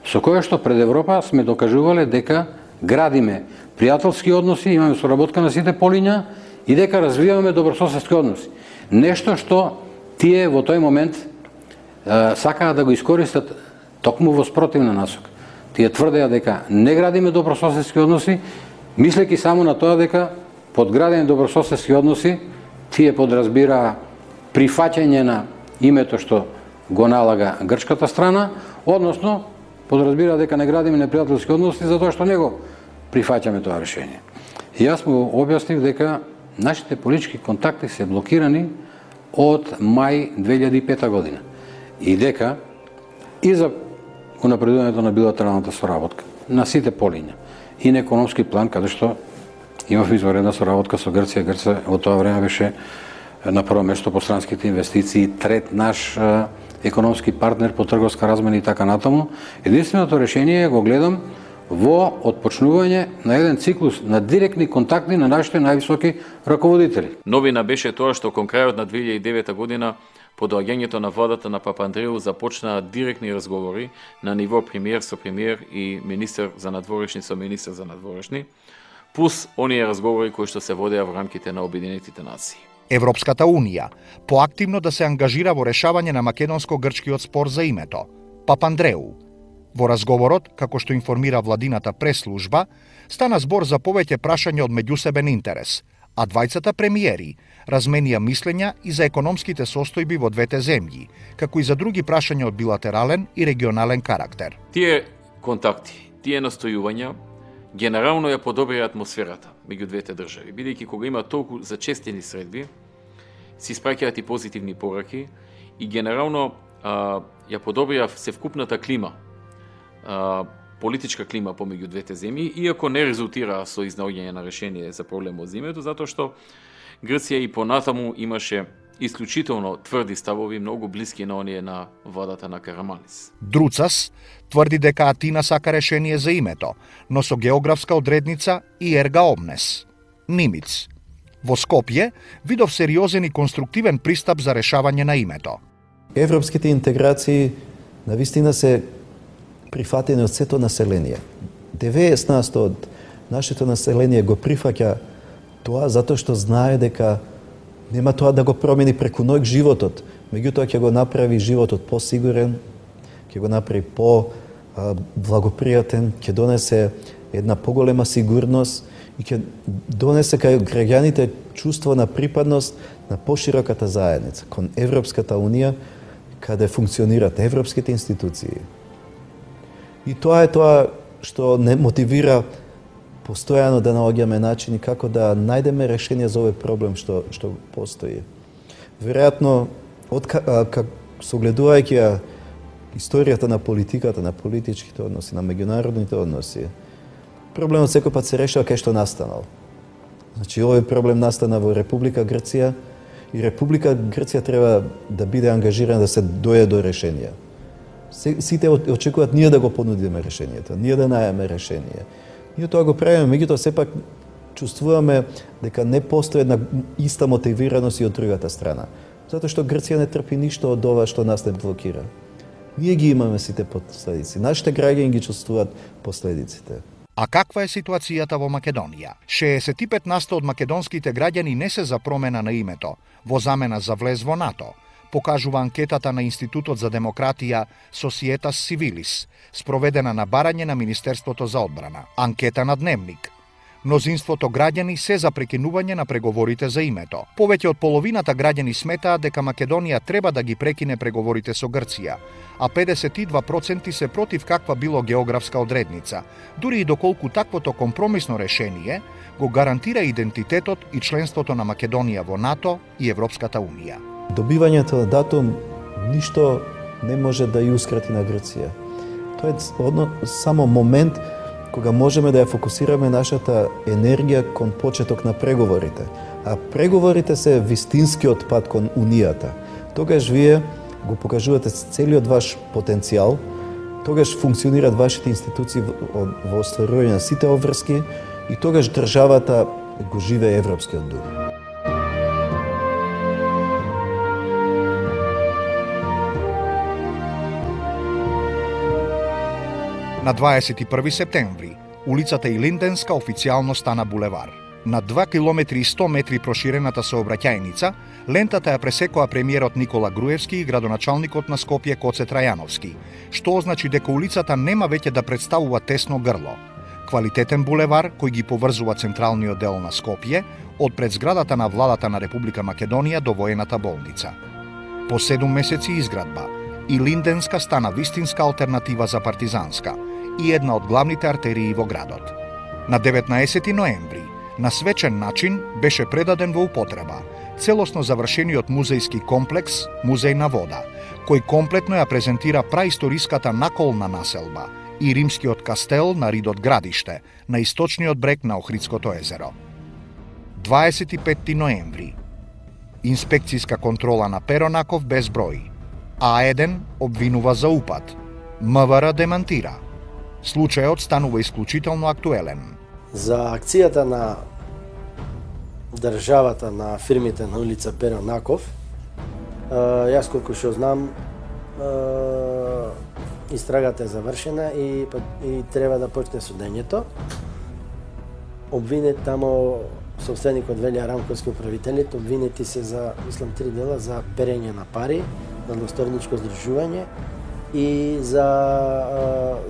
со кое што пред Европа сме докажувале дека градиме пријателски односи, имаме соработка на сите полиња и дека развиваме добрососедски односи. Нешто што тие во тој момент сакаа да го искористат токму во спротивна насока. Тие тврдеа дека не градиме добрососедски односи, мислејќи само на тоа дека под градење добрососедски односи тие подразбираа прифаќање на името што го налага грчката страна, односно подразбира дека не градиме непријателски односи затоа што не го прифаќаме тоа решение. И јас му објаснив дека нашите политички контакти се блокирани од мај 2005 година и дека и за унапредувањето на билатералната соработка на сите полиња и на економски план, каде што имав изваредна соработка со Грција. Грција во тоа време беше на прво место по странските инвестиции, трет наш економски партнер по трговска размена и така натаму. Единственото решение го гледам во отпочнување на еден циклус на директни контакти на нашите највисоки раководители. Новина беше тоа што кон крајот на 2009 година по доаѓањето на владата на Папандреу започнаа директни разговори на ниво премиер со премиер и министер за надворешни со министер за надворешни, плюс оние разговори кои што се водеа во рамките на Обединетите нации. Европската Унија поактивно да се ангажира во решавање на македонско-грчкиот спор за името. Папандреу. Во разговорот, како што информира владината прес-служба, стана збор за повеќе прашања од меѓусебен интерес, а двајцата премиери разменија мислења и за економските состојби во двете земји, како и за други прашања од билатерален и регионален карактер. Тие контакти, тие настојувања генерално ја подобрија атмосферата меѓу двете држави, бидејќи кога има толку зачестени средби, се испраќаат и позитивни пораки и генерално ја подобрија севкупната клима политичка клима помеѓу двете земји, иако не резултира со изнаоѓање на решение за проблемот за името, затоа што Грција и понатаму имаше исклучително тврди ставови, многу блиски на оние на владата на Караманлис. Друцас тврди дека Атина сака решение за името, но со географска одредница и ерга омнес. Нимиц. Во Скопје видов сериозен и конструктивен пристап за решавање на името. Европските интеграции навистина се прифатени од сето население. 90% од нашето население го прифаќа тоа затоа што знае дека нема тоа да го промени преку ноќ животот, меѓутоа ќе го направи животот посигурен, ќе го направи по-благопријатен, ќе донесе една поголема сигурност и ќе донесе кај граѓаните чувство на припадност на пошироката заедница, кон Европската Унија, каде функционираат европските институции. И тоа е тоа што не мотивира постојано да наоѓаме начини како да најдеме решение за овој проблем што постои. Веројатно, согледувајќи историјата на политиката, на политичките односи, на меѓународните односи, проблемот секој пат се решава кај што настанал. Значи, овој проблем настана во Република Грција и Република Грција треба да биде ангажирана да се дојде до решение. Сите очекуваат ние да го понудиме решението, ние да најдеме решение. Ние тоа го правиме, меѓутоа сепак чувствуваме дека не постои една иста мотивираност и од другата страна. Затоа што Грција не трпи ништо од ова што нас не блокира. Ние ги имаме сите последици. Нашите граѓани ги чувствуваат последиците. А каква е ситуацијата во Македонија? 65% од македонските граѓани не се за промена на името, во замена за влез во НАТО, покажува анкетата на Институтот за демократија Societas Civilis, спроведена на барање на Министерството за одбрана. Анкета на Дневник. Мнозинството граѓани се за прекинување на преговорите за името. Повеќе од половината граѓани сметаат дека Македонија треба да ги прекине преговорите со Грција, а 52% се против каква било географска одредница, дури и доколку таквото компромисно решение го гарантира идентитетот и членството на Македонија во НАТО и Европската Унија. Добивањето на датум ништо не може да ја ускрати на Грција. Тоа е само момент кога можеме да ја фокусираме нашата енергија кон почеток на преговорите. А преговорите се вистинскиот пат кон Унијата. Тогаш вие го покажувате целиот ваш потенцијал, тогаш функционираат вашите институции во остварување на сите обврски и тогаш државата го живее европскиот дух. На 21 септември, улицата Илинденска официјално стана булевар. На 2 км и 100 метри проширената сообраќајница, лентата ја пресекоа премиерот Никола Груевски и градоначалникот на Скопје Коце Трајановски, што означи дека улицата нема веќе да представува тесно грло. Квалитетен булевар кој ги поврзува централниот дел на Скопје од пред зградата на владата на Република Македонија до воената болница. По 7 месеци изградба, Илинденска стана вистинска алтернатива за партизанска и една од главните артерии во градот. На 19 ноември, на свечен начин, беше предаден во употреба целосно завршениот музејски комплекс Музеј на вода, кој комплетно ја презентира праисториската наколна населба и римскиот кастел на Ридот градиште, на источниот брег на Охридското езеро. 25 ноември. Инспекцијска контрола на Перонаков без број. А1 обвинува за упад. МВР демантира. Случајот станува исклучително актуелен. За акцијата на државата на фирмите на улица Перонаков, јас колку што знам, истрагата е завршена и треба да почне судењето. Обвинет тамо собственикот Велја Рамковски, управителите, обвинети се за, мислам, 3 дела за перење на пари, надлосторничко здружување и за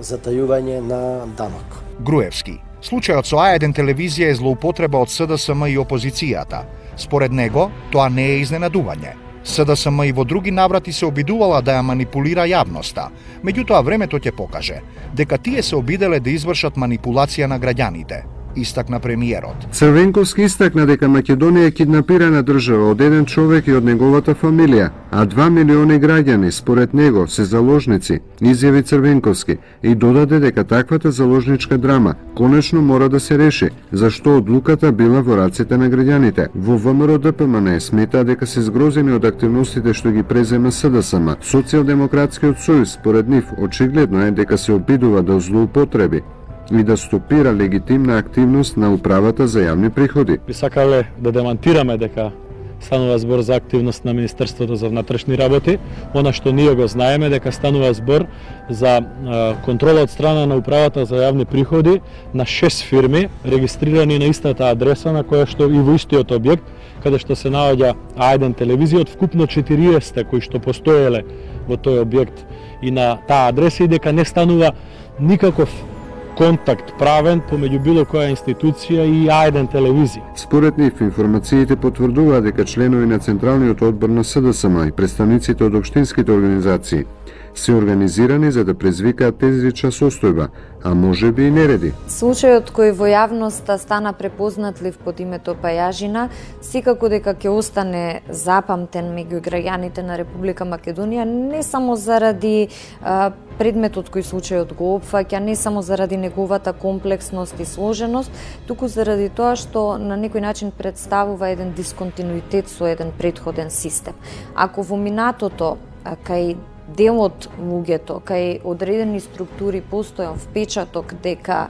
затајување на данок. Груевски. Случајот со А1 телевизија е злоупотреба од СДСМ и опозицијата. Според него, тоа не е изненадување. СДСМ и во други наврати се обидувала да ја манипулира јавноста, меѓутоа времето ќе покаже дека тие се обиделе да извршат манипулација на граѓаните. истакна премиерот. Црвенковски истакна дека Македонија е киднапирана држава од еден човек и од неговата фамилија, а 2 милиони граѓани според него се заложници, изјави Црвенковски и додаде дека таквата заложничка драма конечно мора да се реши, зашто одлуката била во рацете на граѓаните. Во ВМРО ДПМН смета дека се згрозени од активностите што ги презема СДСМ. Социјалдемократскиот сојуз според нив очигледно е дека се обидува да злоупотреби и да стопира легитимна активност на управата за јавни приходи. Би сакале да демантираме дека станува збор за активност на Министерството за внатрешни работи. Она што ние го знаеме дека станува збор за контрола од страна на управата за јавни приходи на 6 фирми регистрирани на истата адреса на која што и во истиот објект каде што се наоѓа А1 телевизија од вкупно 40 кои што постоеле во тој објект и на таа адреса и дека не станува никаков контакт правен помеѓу било која институција и А1 телевизија. Според нив, информациите потврдуваат дека членови на Централниот одбор на СДСМ и представниците од општинските организации се организирани за да презвикаат тезична состојба, а може би и нереди. Случајот кој во јавноста стана препознатлив под името Пајажина, секако дека ќе остане запамтен меѓу граѓаните на Република Македонија, не само заради предметот кој случајот го опфаќа, не само заради неговата комплексност и сложеност, туку заради тоа што на некој начин представува еден дисконтинуитет со еден претходен систем. Ако во минатото кај дел од луѓето, кај одредени структури постојан впечаток дека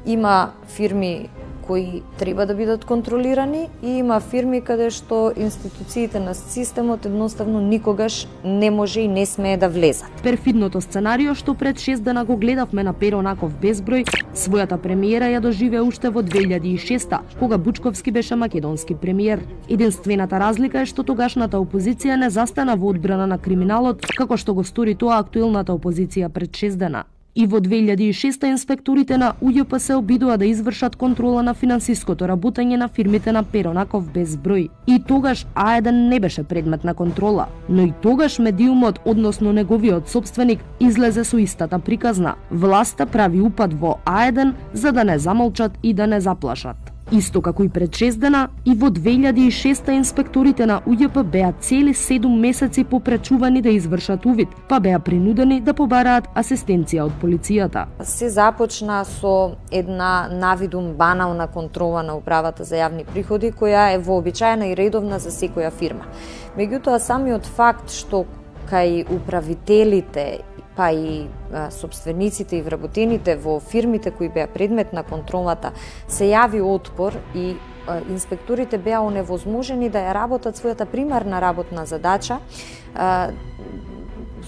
има фирми кои треба да бидат контролирани и има фирми каде што институциите на системот едноставно никогаш не може и не смее да влезат. Перфидното сценарио што пред 6 дена го гледавме на Перо Наков безброј, својата премиера ја доживеа уште во 2006 кога Бучковски беше македонски премиер. Единствената разлика е што тогашната опозиција не застана во одбрана на криминалот како што го стори тоа актуелната опозиција пред 6 дена. И во 2006 инспекторите на УЈП се обидува да извршат контрола на финансиското работење на фирмите на Перо Наков безброј. И тогаш А1 не беше предмет на контрола, но и тогаш медиумот, односно неговиот собственик, излезе со истата приказна. Власта прави упад во А1 за да не замолчат и да не заплашат. Исто како и пред 6 дена, и во 2006 инспекторите на УЈП беа цели 7 месеци попречувани да извршат увид, па беа принудени да побараат асистенција од полицијата. Се започна со една навидум банална контрола на управата за јавни приходи, која е вообичаена и редовна за секоја фирма. Меѓутоа, самиот факт што кај управителите па и собствениците и вработените во фирмите кои беа предмет на контролата се јави отпор и инспекторите беа оневозможени да ја работат својата примарна работна задача,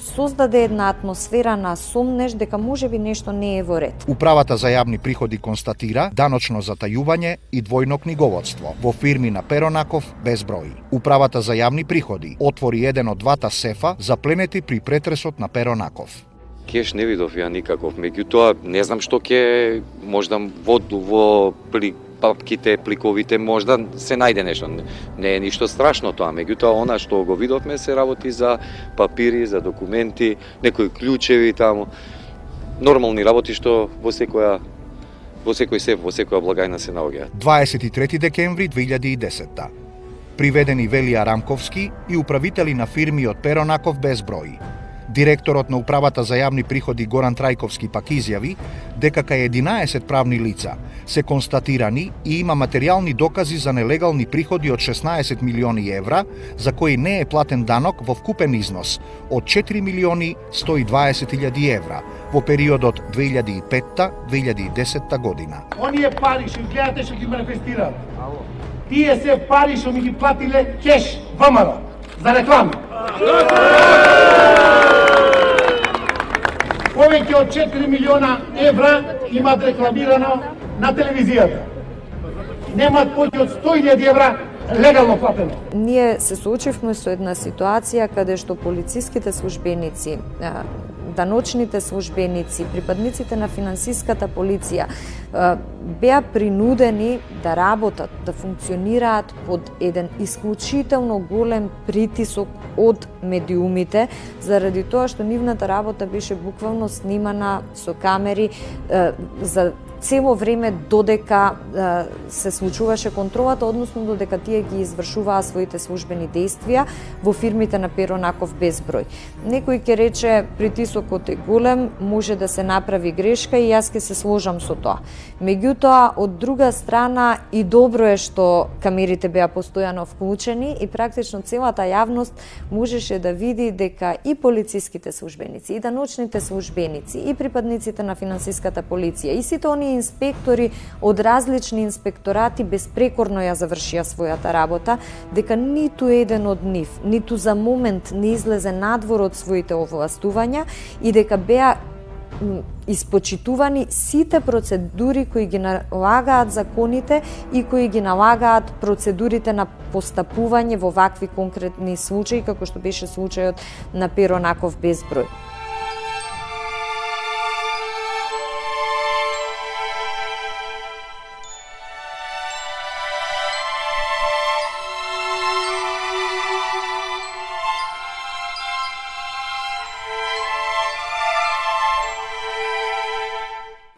создаде една атмосфера на сомнеш дека можеби нешто не е во ред. Управата за јавни приходи констатира даночно затајување и двојно книговодство во фирми на Перо Наков безброј. Управата за јавни приходи отвори еден од двата сефа запленети при претресот на Перо Наков. Кеш не видов ја никаков, меѓутоа не знам што ќе можда во папките, пликовите можда се најде нешто. Не е ништо страшно тоа, меѓутоа она што го видовме се работи за папири, за документи, некои клучеви таму. Нормални работи што во секој сеф, во секоја благајна се наоѓаат. 23 декември 2010. Приведени Велија Рамковски и управители на фирми од Перо Наков безброј. Директорот на Управата за јавни приходи Горан Трајковски пак изјави дека кај 11 правни лица се констатирани и има материјални докази за нелегални приходи од 16 милиони евра, за кои не е платен данок во вкупен износ од 4 милиони 120 илјади евра во периодот 2005-2010 година. Оние пари што гледате што ги манифестираат, тие се пари што ми ги платиле кеш ВМРО за реклами. Повеќе од 4 милиона евра имат рекламирано на телевизијата. Немат повеќе од 100.000 евра легално платено. Ние се соочивме со една ситуација каде што полициските службеници, даночните службеници, припадниците на финансиската полиција беа принудени да работат, да функционираат под еден исклучително голем притисок од медиумите, заради тоа што нивната работа беше буквално снимана со камери за цело време додека се случуваше контролата, односно додека тие ги извршуваа своите службени действија во фирмите на Перо Наков безброј. Некој ќе рече притисокот е голем, може да се направи грешка и јас ќе се сложам со тоа. Меѓутоа, од друга страна и добро е што камерите беа постојано вклучени и практично целата јавност можеше да види дека и полициските службеници, и даночните службеници, и припадниците на финансиската полиција, и сите оние инспектори од различни инспекторати безпрекорно ја завршија својата работа, дека ниту еден од нив, ниту за момент не излезе надвор од своите овластувања и дека беа испочитувани сите процедури кои ги налагаат законите и кои ги налагаат процедурите на постапување во вакви конкретни случаи, како што беше случајот на Перо Наков безброј.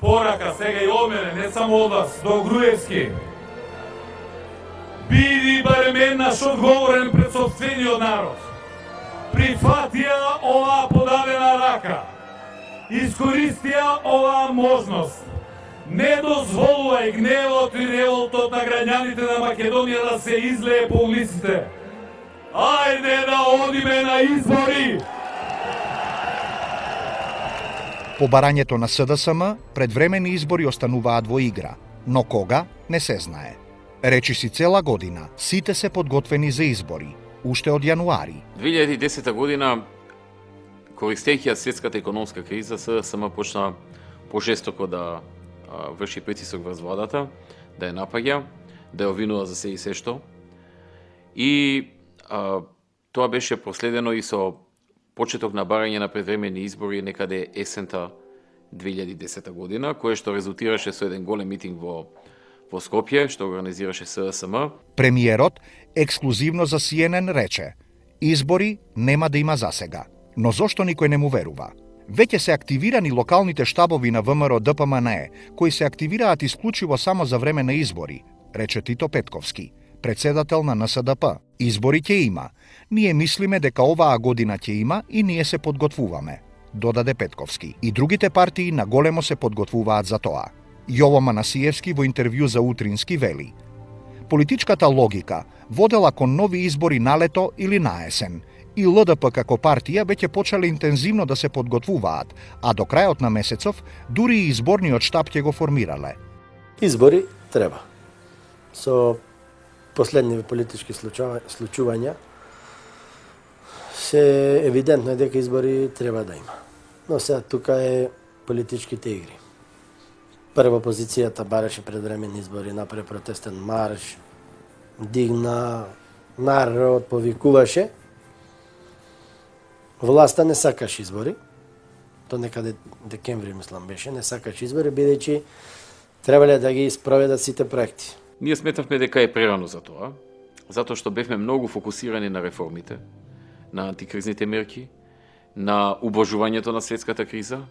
Порака сега и од мене, не само од вас, до Груевски. Биди барем еднаш одговорен пред сопствениот народ. Прифатија оваа подадена рака. Искористија оваа можност. Не дозволувај гневот и револтот на граѓаните на Македонија да се излее по улиците. Ајде да одиме на избори! По барањето на СДСМ, предвремени избори остануваат во игра, но кога не се знае. Речи си цела година, сите се подготвени за избори, уште од јануари. 2010 година, користејќи ја светската економска криза, СДСМ почна пожестоко да врши притисок врз владата, да ја напаѓа, да ја обвинува за се и се што. И тоа беше проследено и со почеток на барање на предвремени избори некаде есента 2010 година, кое што резултираше со еден голем митинг во Скопје, што организираше СДСМ. Премиерот ексклузивно за CNN рече: избори нема да има засега. Но зошто никој не му верува? Веќе се активирани локалните штабови на ВМРО ДПМНЕ, кои се активираат исклучиво само за време на избори, рече Тито Петковски, председател на НСДП. Избори ќе има. Ние мислиме дека оваа година ќе има и ние се подготвуваме, додаде Петковски. И другите партии на големо се подготвуваат за тоа. Јово Манасиевски во интервју за Утрински вели: политичката логика водела кон нови избори на лето или на есен, и ЛДП како партија веќе почеле интензивно да се подготвуваат, а до крајот на месецов дури и изборниот штаб ќе го формирале. Избори треба. Со последни политички случувања се евидентно е дека избори треба да има. Но сега тука е политичките игри. Прва опозицијата бараше предвремени избори, направи протестен марш, дигна, народ повикуваше. Власта не сакаше избори. То некаде декември, мислам, беше. Не сакаше избори, бидејќи требале да ги спроведат сите проекти. Ние сметавме дека е прерано за тоа, затоа што бевме многу фокусирани на реформите, на антикризните мерки, на убожувањето на светската криза,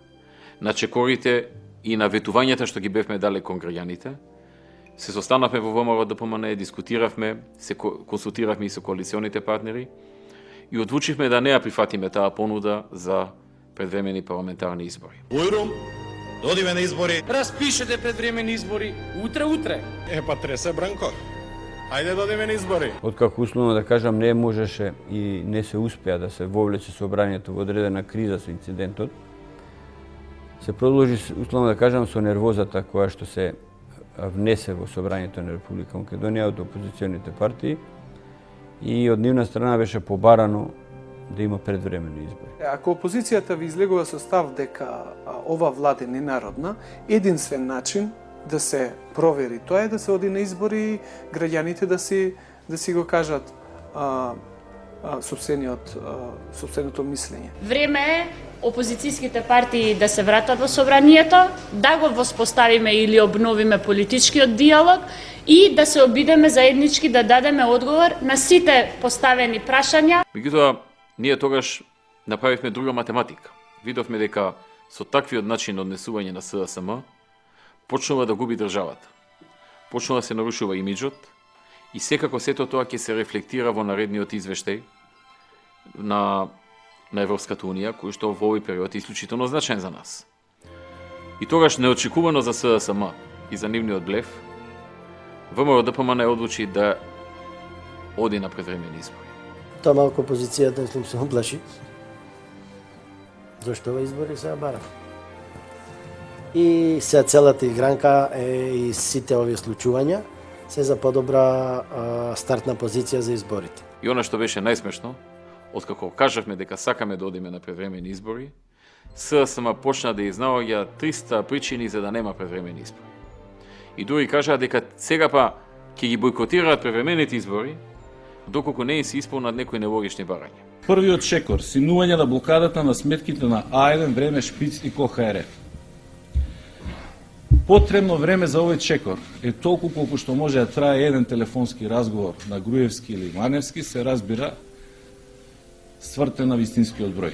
на чекорите и на ветувањата што ги бевме дале кон граѓаните. Се состанавме во ВМРО ДПМНЕ, дискутиравме, се консултиравме и со коалиционите партнери и одлучивме да не ја прифатиме таа понуда за предвремени парламентарни избори. Ујрум, додиме на избори. Распишете предвремени избори утре. Па тресе Бранко. Ајде додиме на избори. Откако условно да кажам не можеше и не се успеа да се вовлече собранието во одредена криза со инцидентот, се продолжи условно да кажам со нервозата која што се внесе во собранието на Република Македонија од опозиционите партии и од нивна страна беше побарано да има предвремени избори. Ако опозицијата ви излегува со став дека ова влада е ненародна, единствен начин да се провери тоа е да се оди на избори и граѓаните да си го кажат сопственото мислење. Време е опозицијските партии да се вратат во собранието, да го воспоставиме или обновиме политичкиот диалог и да се обидеме заеднички да дадеме одговор на сите поставени прашања. Меѓутоа, ние тогаш направивме друга математика. Видовме дека со таквиот начин однесување на СДСМ, почнува да губи државата. Почнува да се нарушува имиджот и секако сето тоа ќе се рефлектира во наредниот извештај на Европската Унија, кој што во овој период е исклучително значаен за нас. И тогаш неочекувано за СДСМ и за нивниот блеф, ВМРО-ДПМН одлучи да оди на предвремени избори. Тоа малку опозицијата мислам се оплаши. Зошто ова избори се бара? И се целата игранка и сите овие случувања се за подобра стартна позиција за изборите. И она што беше најсмешно, откако кажавме дека сакаме да одиме на предвремени избори, СДСМ почна да изнаоѓа 300 причини за да нема предвремени избори. И дури кажаа дека сега па ќе ги бойкотираат предвремените избори, доколку не се исполнат некои нелогични барања. Првиот чекор, синување на блокадата на сметките на А1, Време, Шпиц и КОХР. Потребно време за овој чекор е толку колку што може да трае еден телефонски разговор на Груевски или Маневски, се разбира ствртен на вистинскиот број.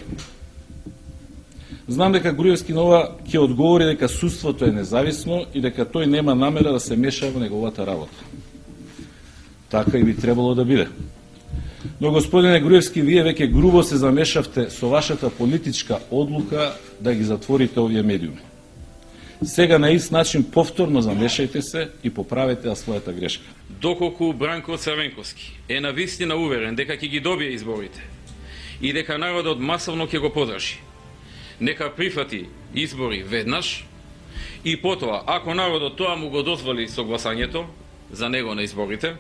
Знам дека Груевски нова ќе одговори дека судството е независно и дека тој нема намера да се меша во неговата работа. Така и би требало да биде. Но, господине Груевски, вие веќе грубо се замешавте со вашата политичка одлука да ги затворите овие медиуми. Сега на ист начин повторно замешајте се и поправете својата грешка. Доколку Бранко Црвенковски е навистина уверен дека ќе ги добие изборите и дека народот масовно ќе го подржи, нека прифати избори веднаш и потоа, ако народот тоа му го дозволи со гласањето за него на изборите,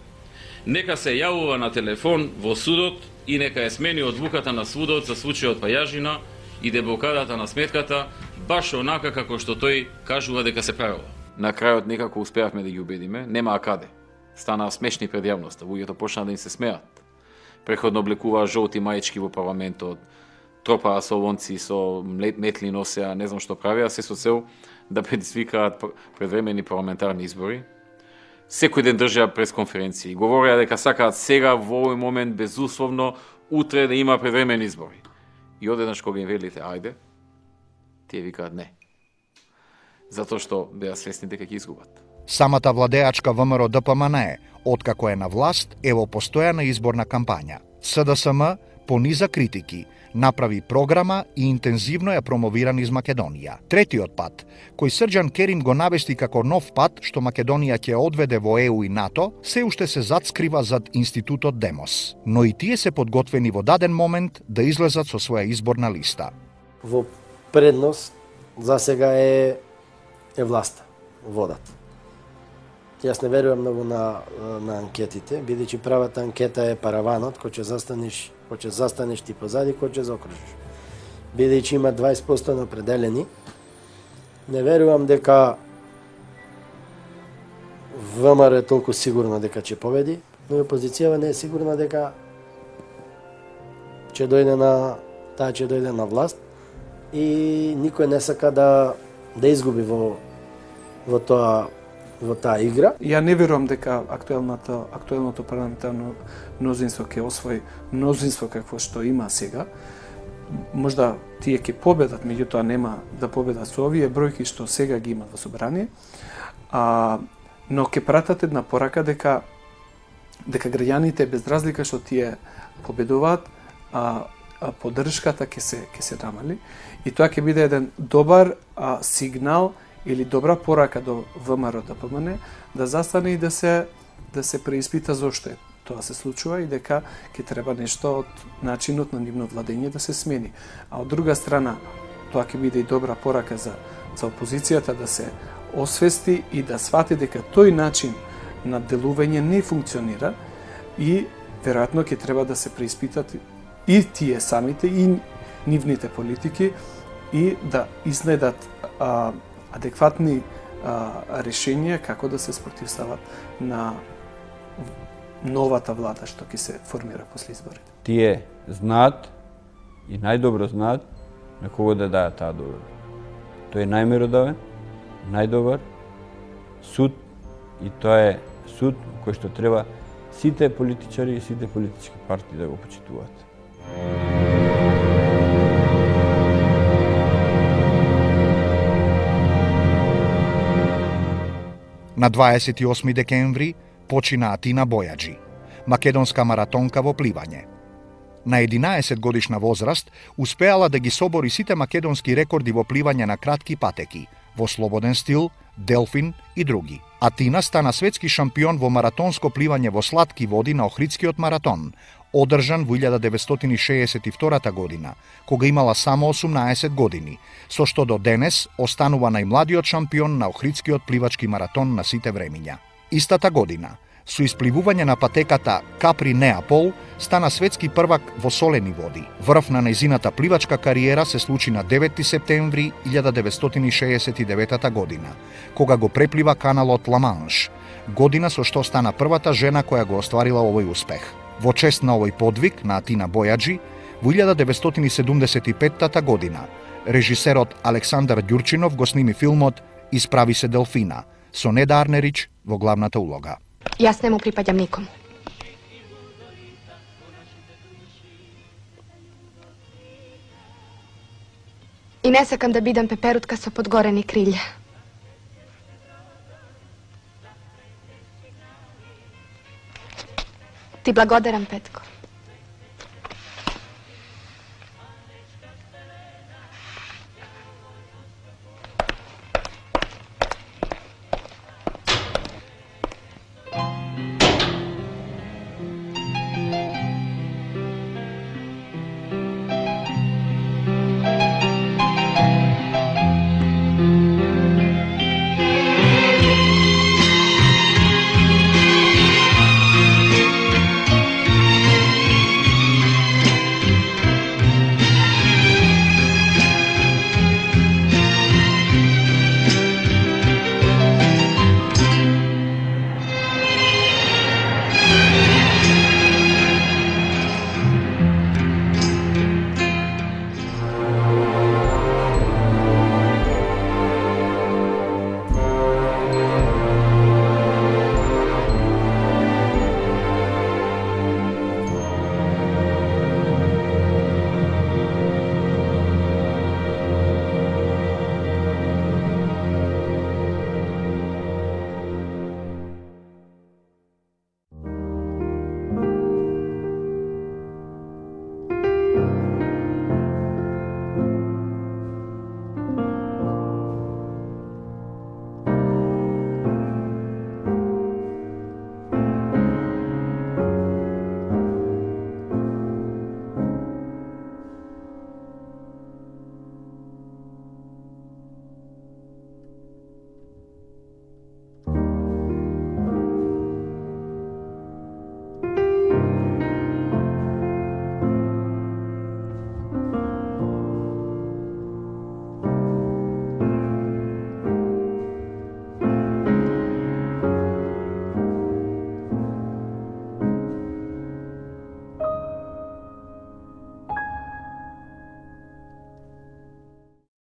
нека се јавува на телефон во судот и нека ја смени одлуката на судот за случајот Пајажина и деблокадата на сметката, баш онака како што тој кажува дека се правило. На крајот некако успеавме да ги убедиме, нема каде. Станаа смешни пред јавноста, луѓето почнаа да им се смеат. Преходно облекуваа жолти маички во парламентот, тропаа солонци со метли носеа, не знам што правеа, се со цел да предизвикаат предвремени парламентарни избори. Секој ден држаа пресконференции, говореа дека сакаат сега во овој момент безусловно утре да има предвремени избори. И одеднаш кога им велите ајде, тие викаат не. Затоа што беа свесни дека ќе изгубат. Самата владеачка ВМРО-ДПМН, откако е на власт, е во постојана изборна кампања. СДСМ пониза критики, направи програма и интензивно ја промовира низ Македонија. Третиот пат, кој Срџан Керим го навести како нов пат што Македонија ќе одведе во ЕУ и НАТО, се уште се затскрива зад институтот Демос. Но и тие се подготвени во даден момент да излезат со своја изборна листа. Во предност за сега е власта, водат. Јас не верувам многу на анкетите, бидејќи правата анкета е параванот, кој ќе застанеш ти позади, кој ќе заокружиш. Бидејќи има 20% на определени, не верувам дека ВМРО е толку сигурно дека ќе победи, но и опозицијава не е сигурна дека ќе дојде на власт и никој не сака да изгуби во таа игра. Ја не верувам дека актуелното парламентарно мнозинство ќе освои мнозинство какво што има сега. Можда тие ќе победат, меѓутоа нема да победат со овие бројки што сега ги имат во собрание. Но ќе пратат една порака дека граѓаните без разлика што тие победуваат, поддршката ќе се намали и тоа ќе биде еден добар сигнал или добра порака до ВМРО-ДПМН да застане и да се преиспита зошто тоа се случува и дека ќе треба нешто од начинот на нивно владење да се смени. А од друга страна, тоа ќе биде и добра порака за опозицијата да се освести и да свати дека тој начин на делување не функционира и веројатно ќе треба да се преиспитат и тие самите и нивните политики и да изнедат адекватни решенија како да се спротивстават на новата влада што ќе се формира после изборите. Тие знаат и најдобро знаат на кого да даат таа доверба. Тој е најмеродавен, најдобар суд и тоа е суд кој што треба сите политичари и сите политички партии да го почитуваат. На 28 декември почина Атина Бојаджи, македонска маратонка во пливање. На 11 годишна возраст успеала да ги собори сите македонски рекорди во пливање на кратки патеки, во слободен стил, делфин и други. Атина стана светски шампион во маратонско пливање во сладки води на Охридскиот маратон, одржан во 1962 година, кога имала само 18 години, со што до денес останува најмладиот шампион на Охридскиот пливачки маратон на сите времиња. Истата година, со испливување на патеката Капри Неапол, стана светски првак во солени води. Врв на нејзината пливачка кариера се случи на 9 септември 1969 година, кога го преплива каналот Ла-Манш, година со што стана првата жена која го остварила овој успех. Во чест на овој подвиг на Атина Бојаджи, во 1975 година, режисерот Александар Ѓурчинов го сними филмот Исправи се Делфина, со Неда Арнерич во главната улога. Јас не му припаѓам никому. И не сакам да бидам пеперутка со подгорени крилја. Ти благодарам, Петко.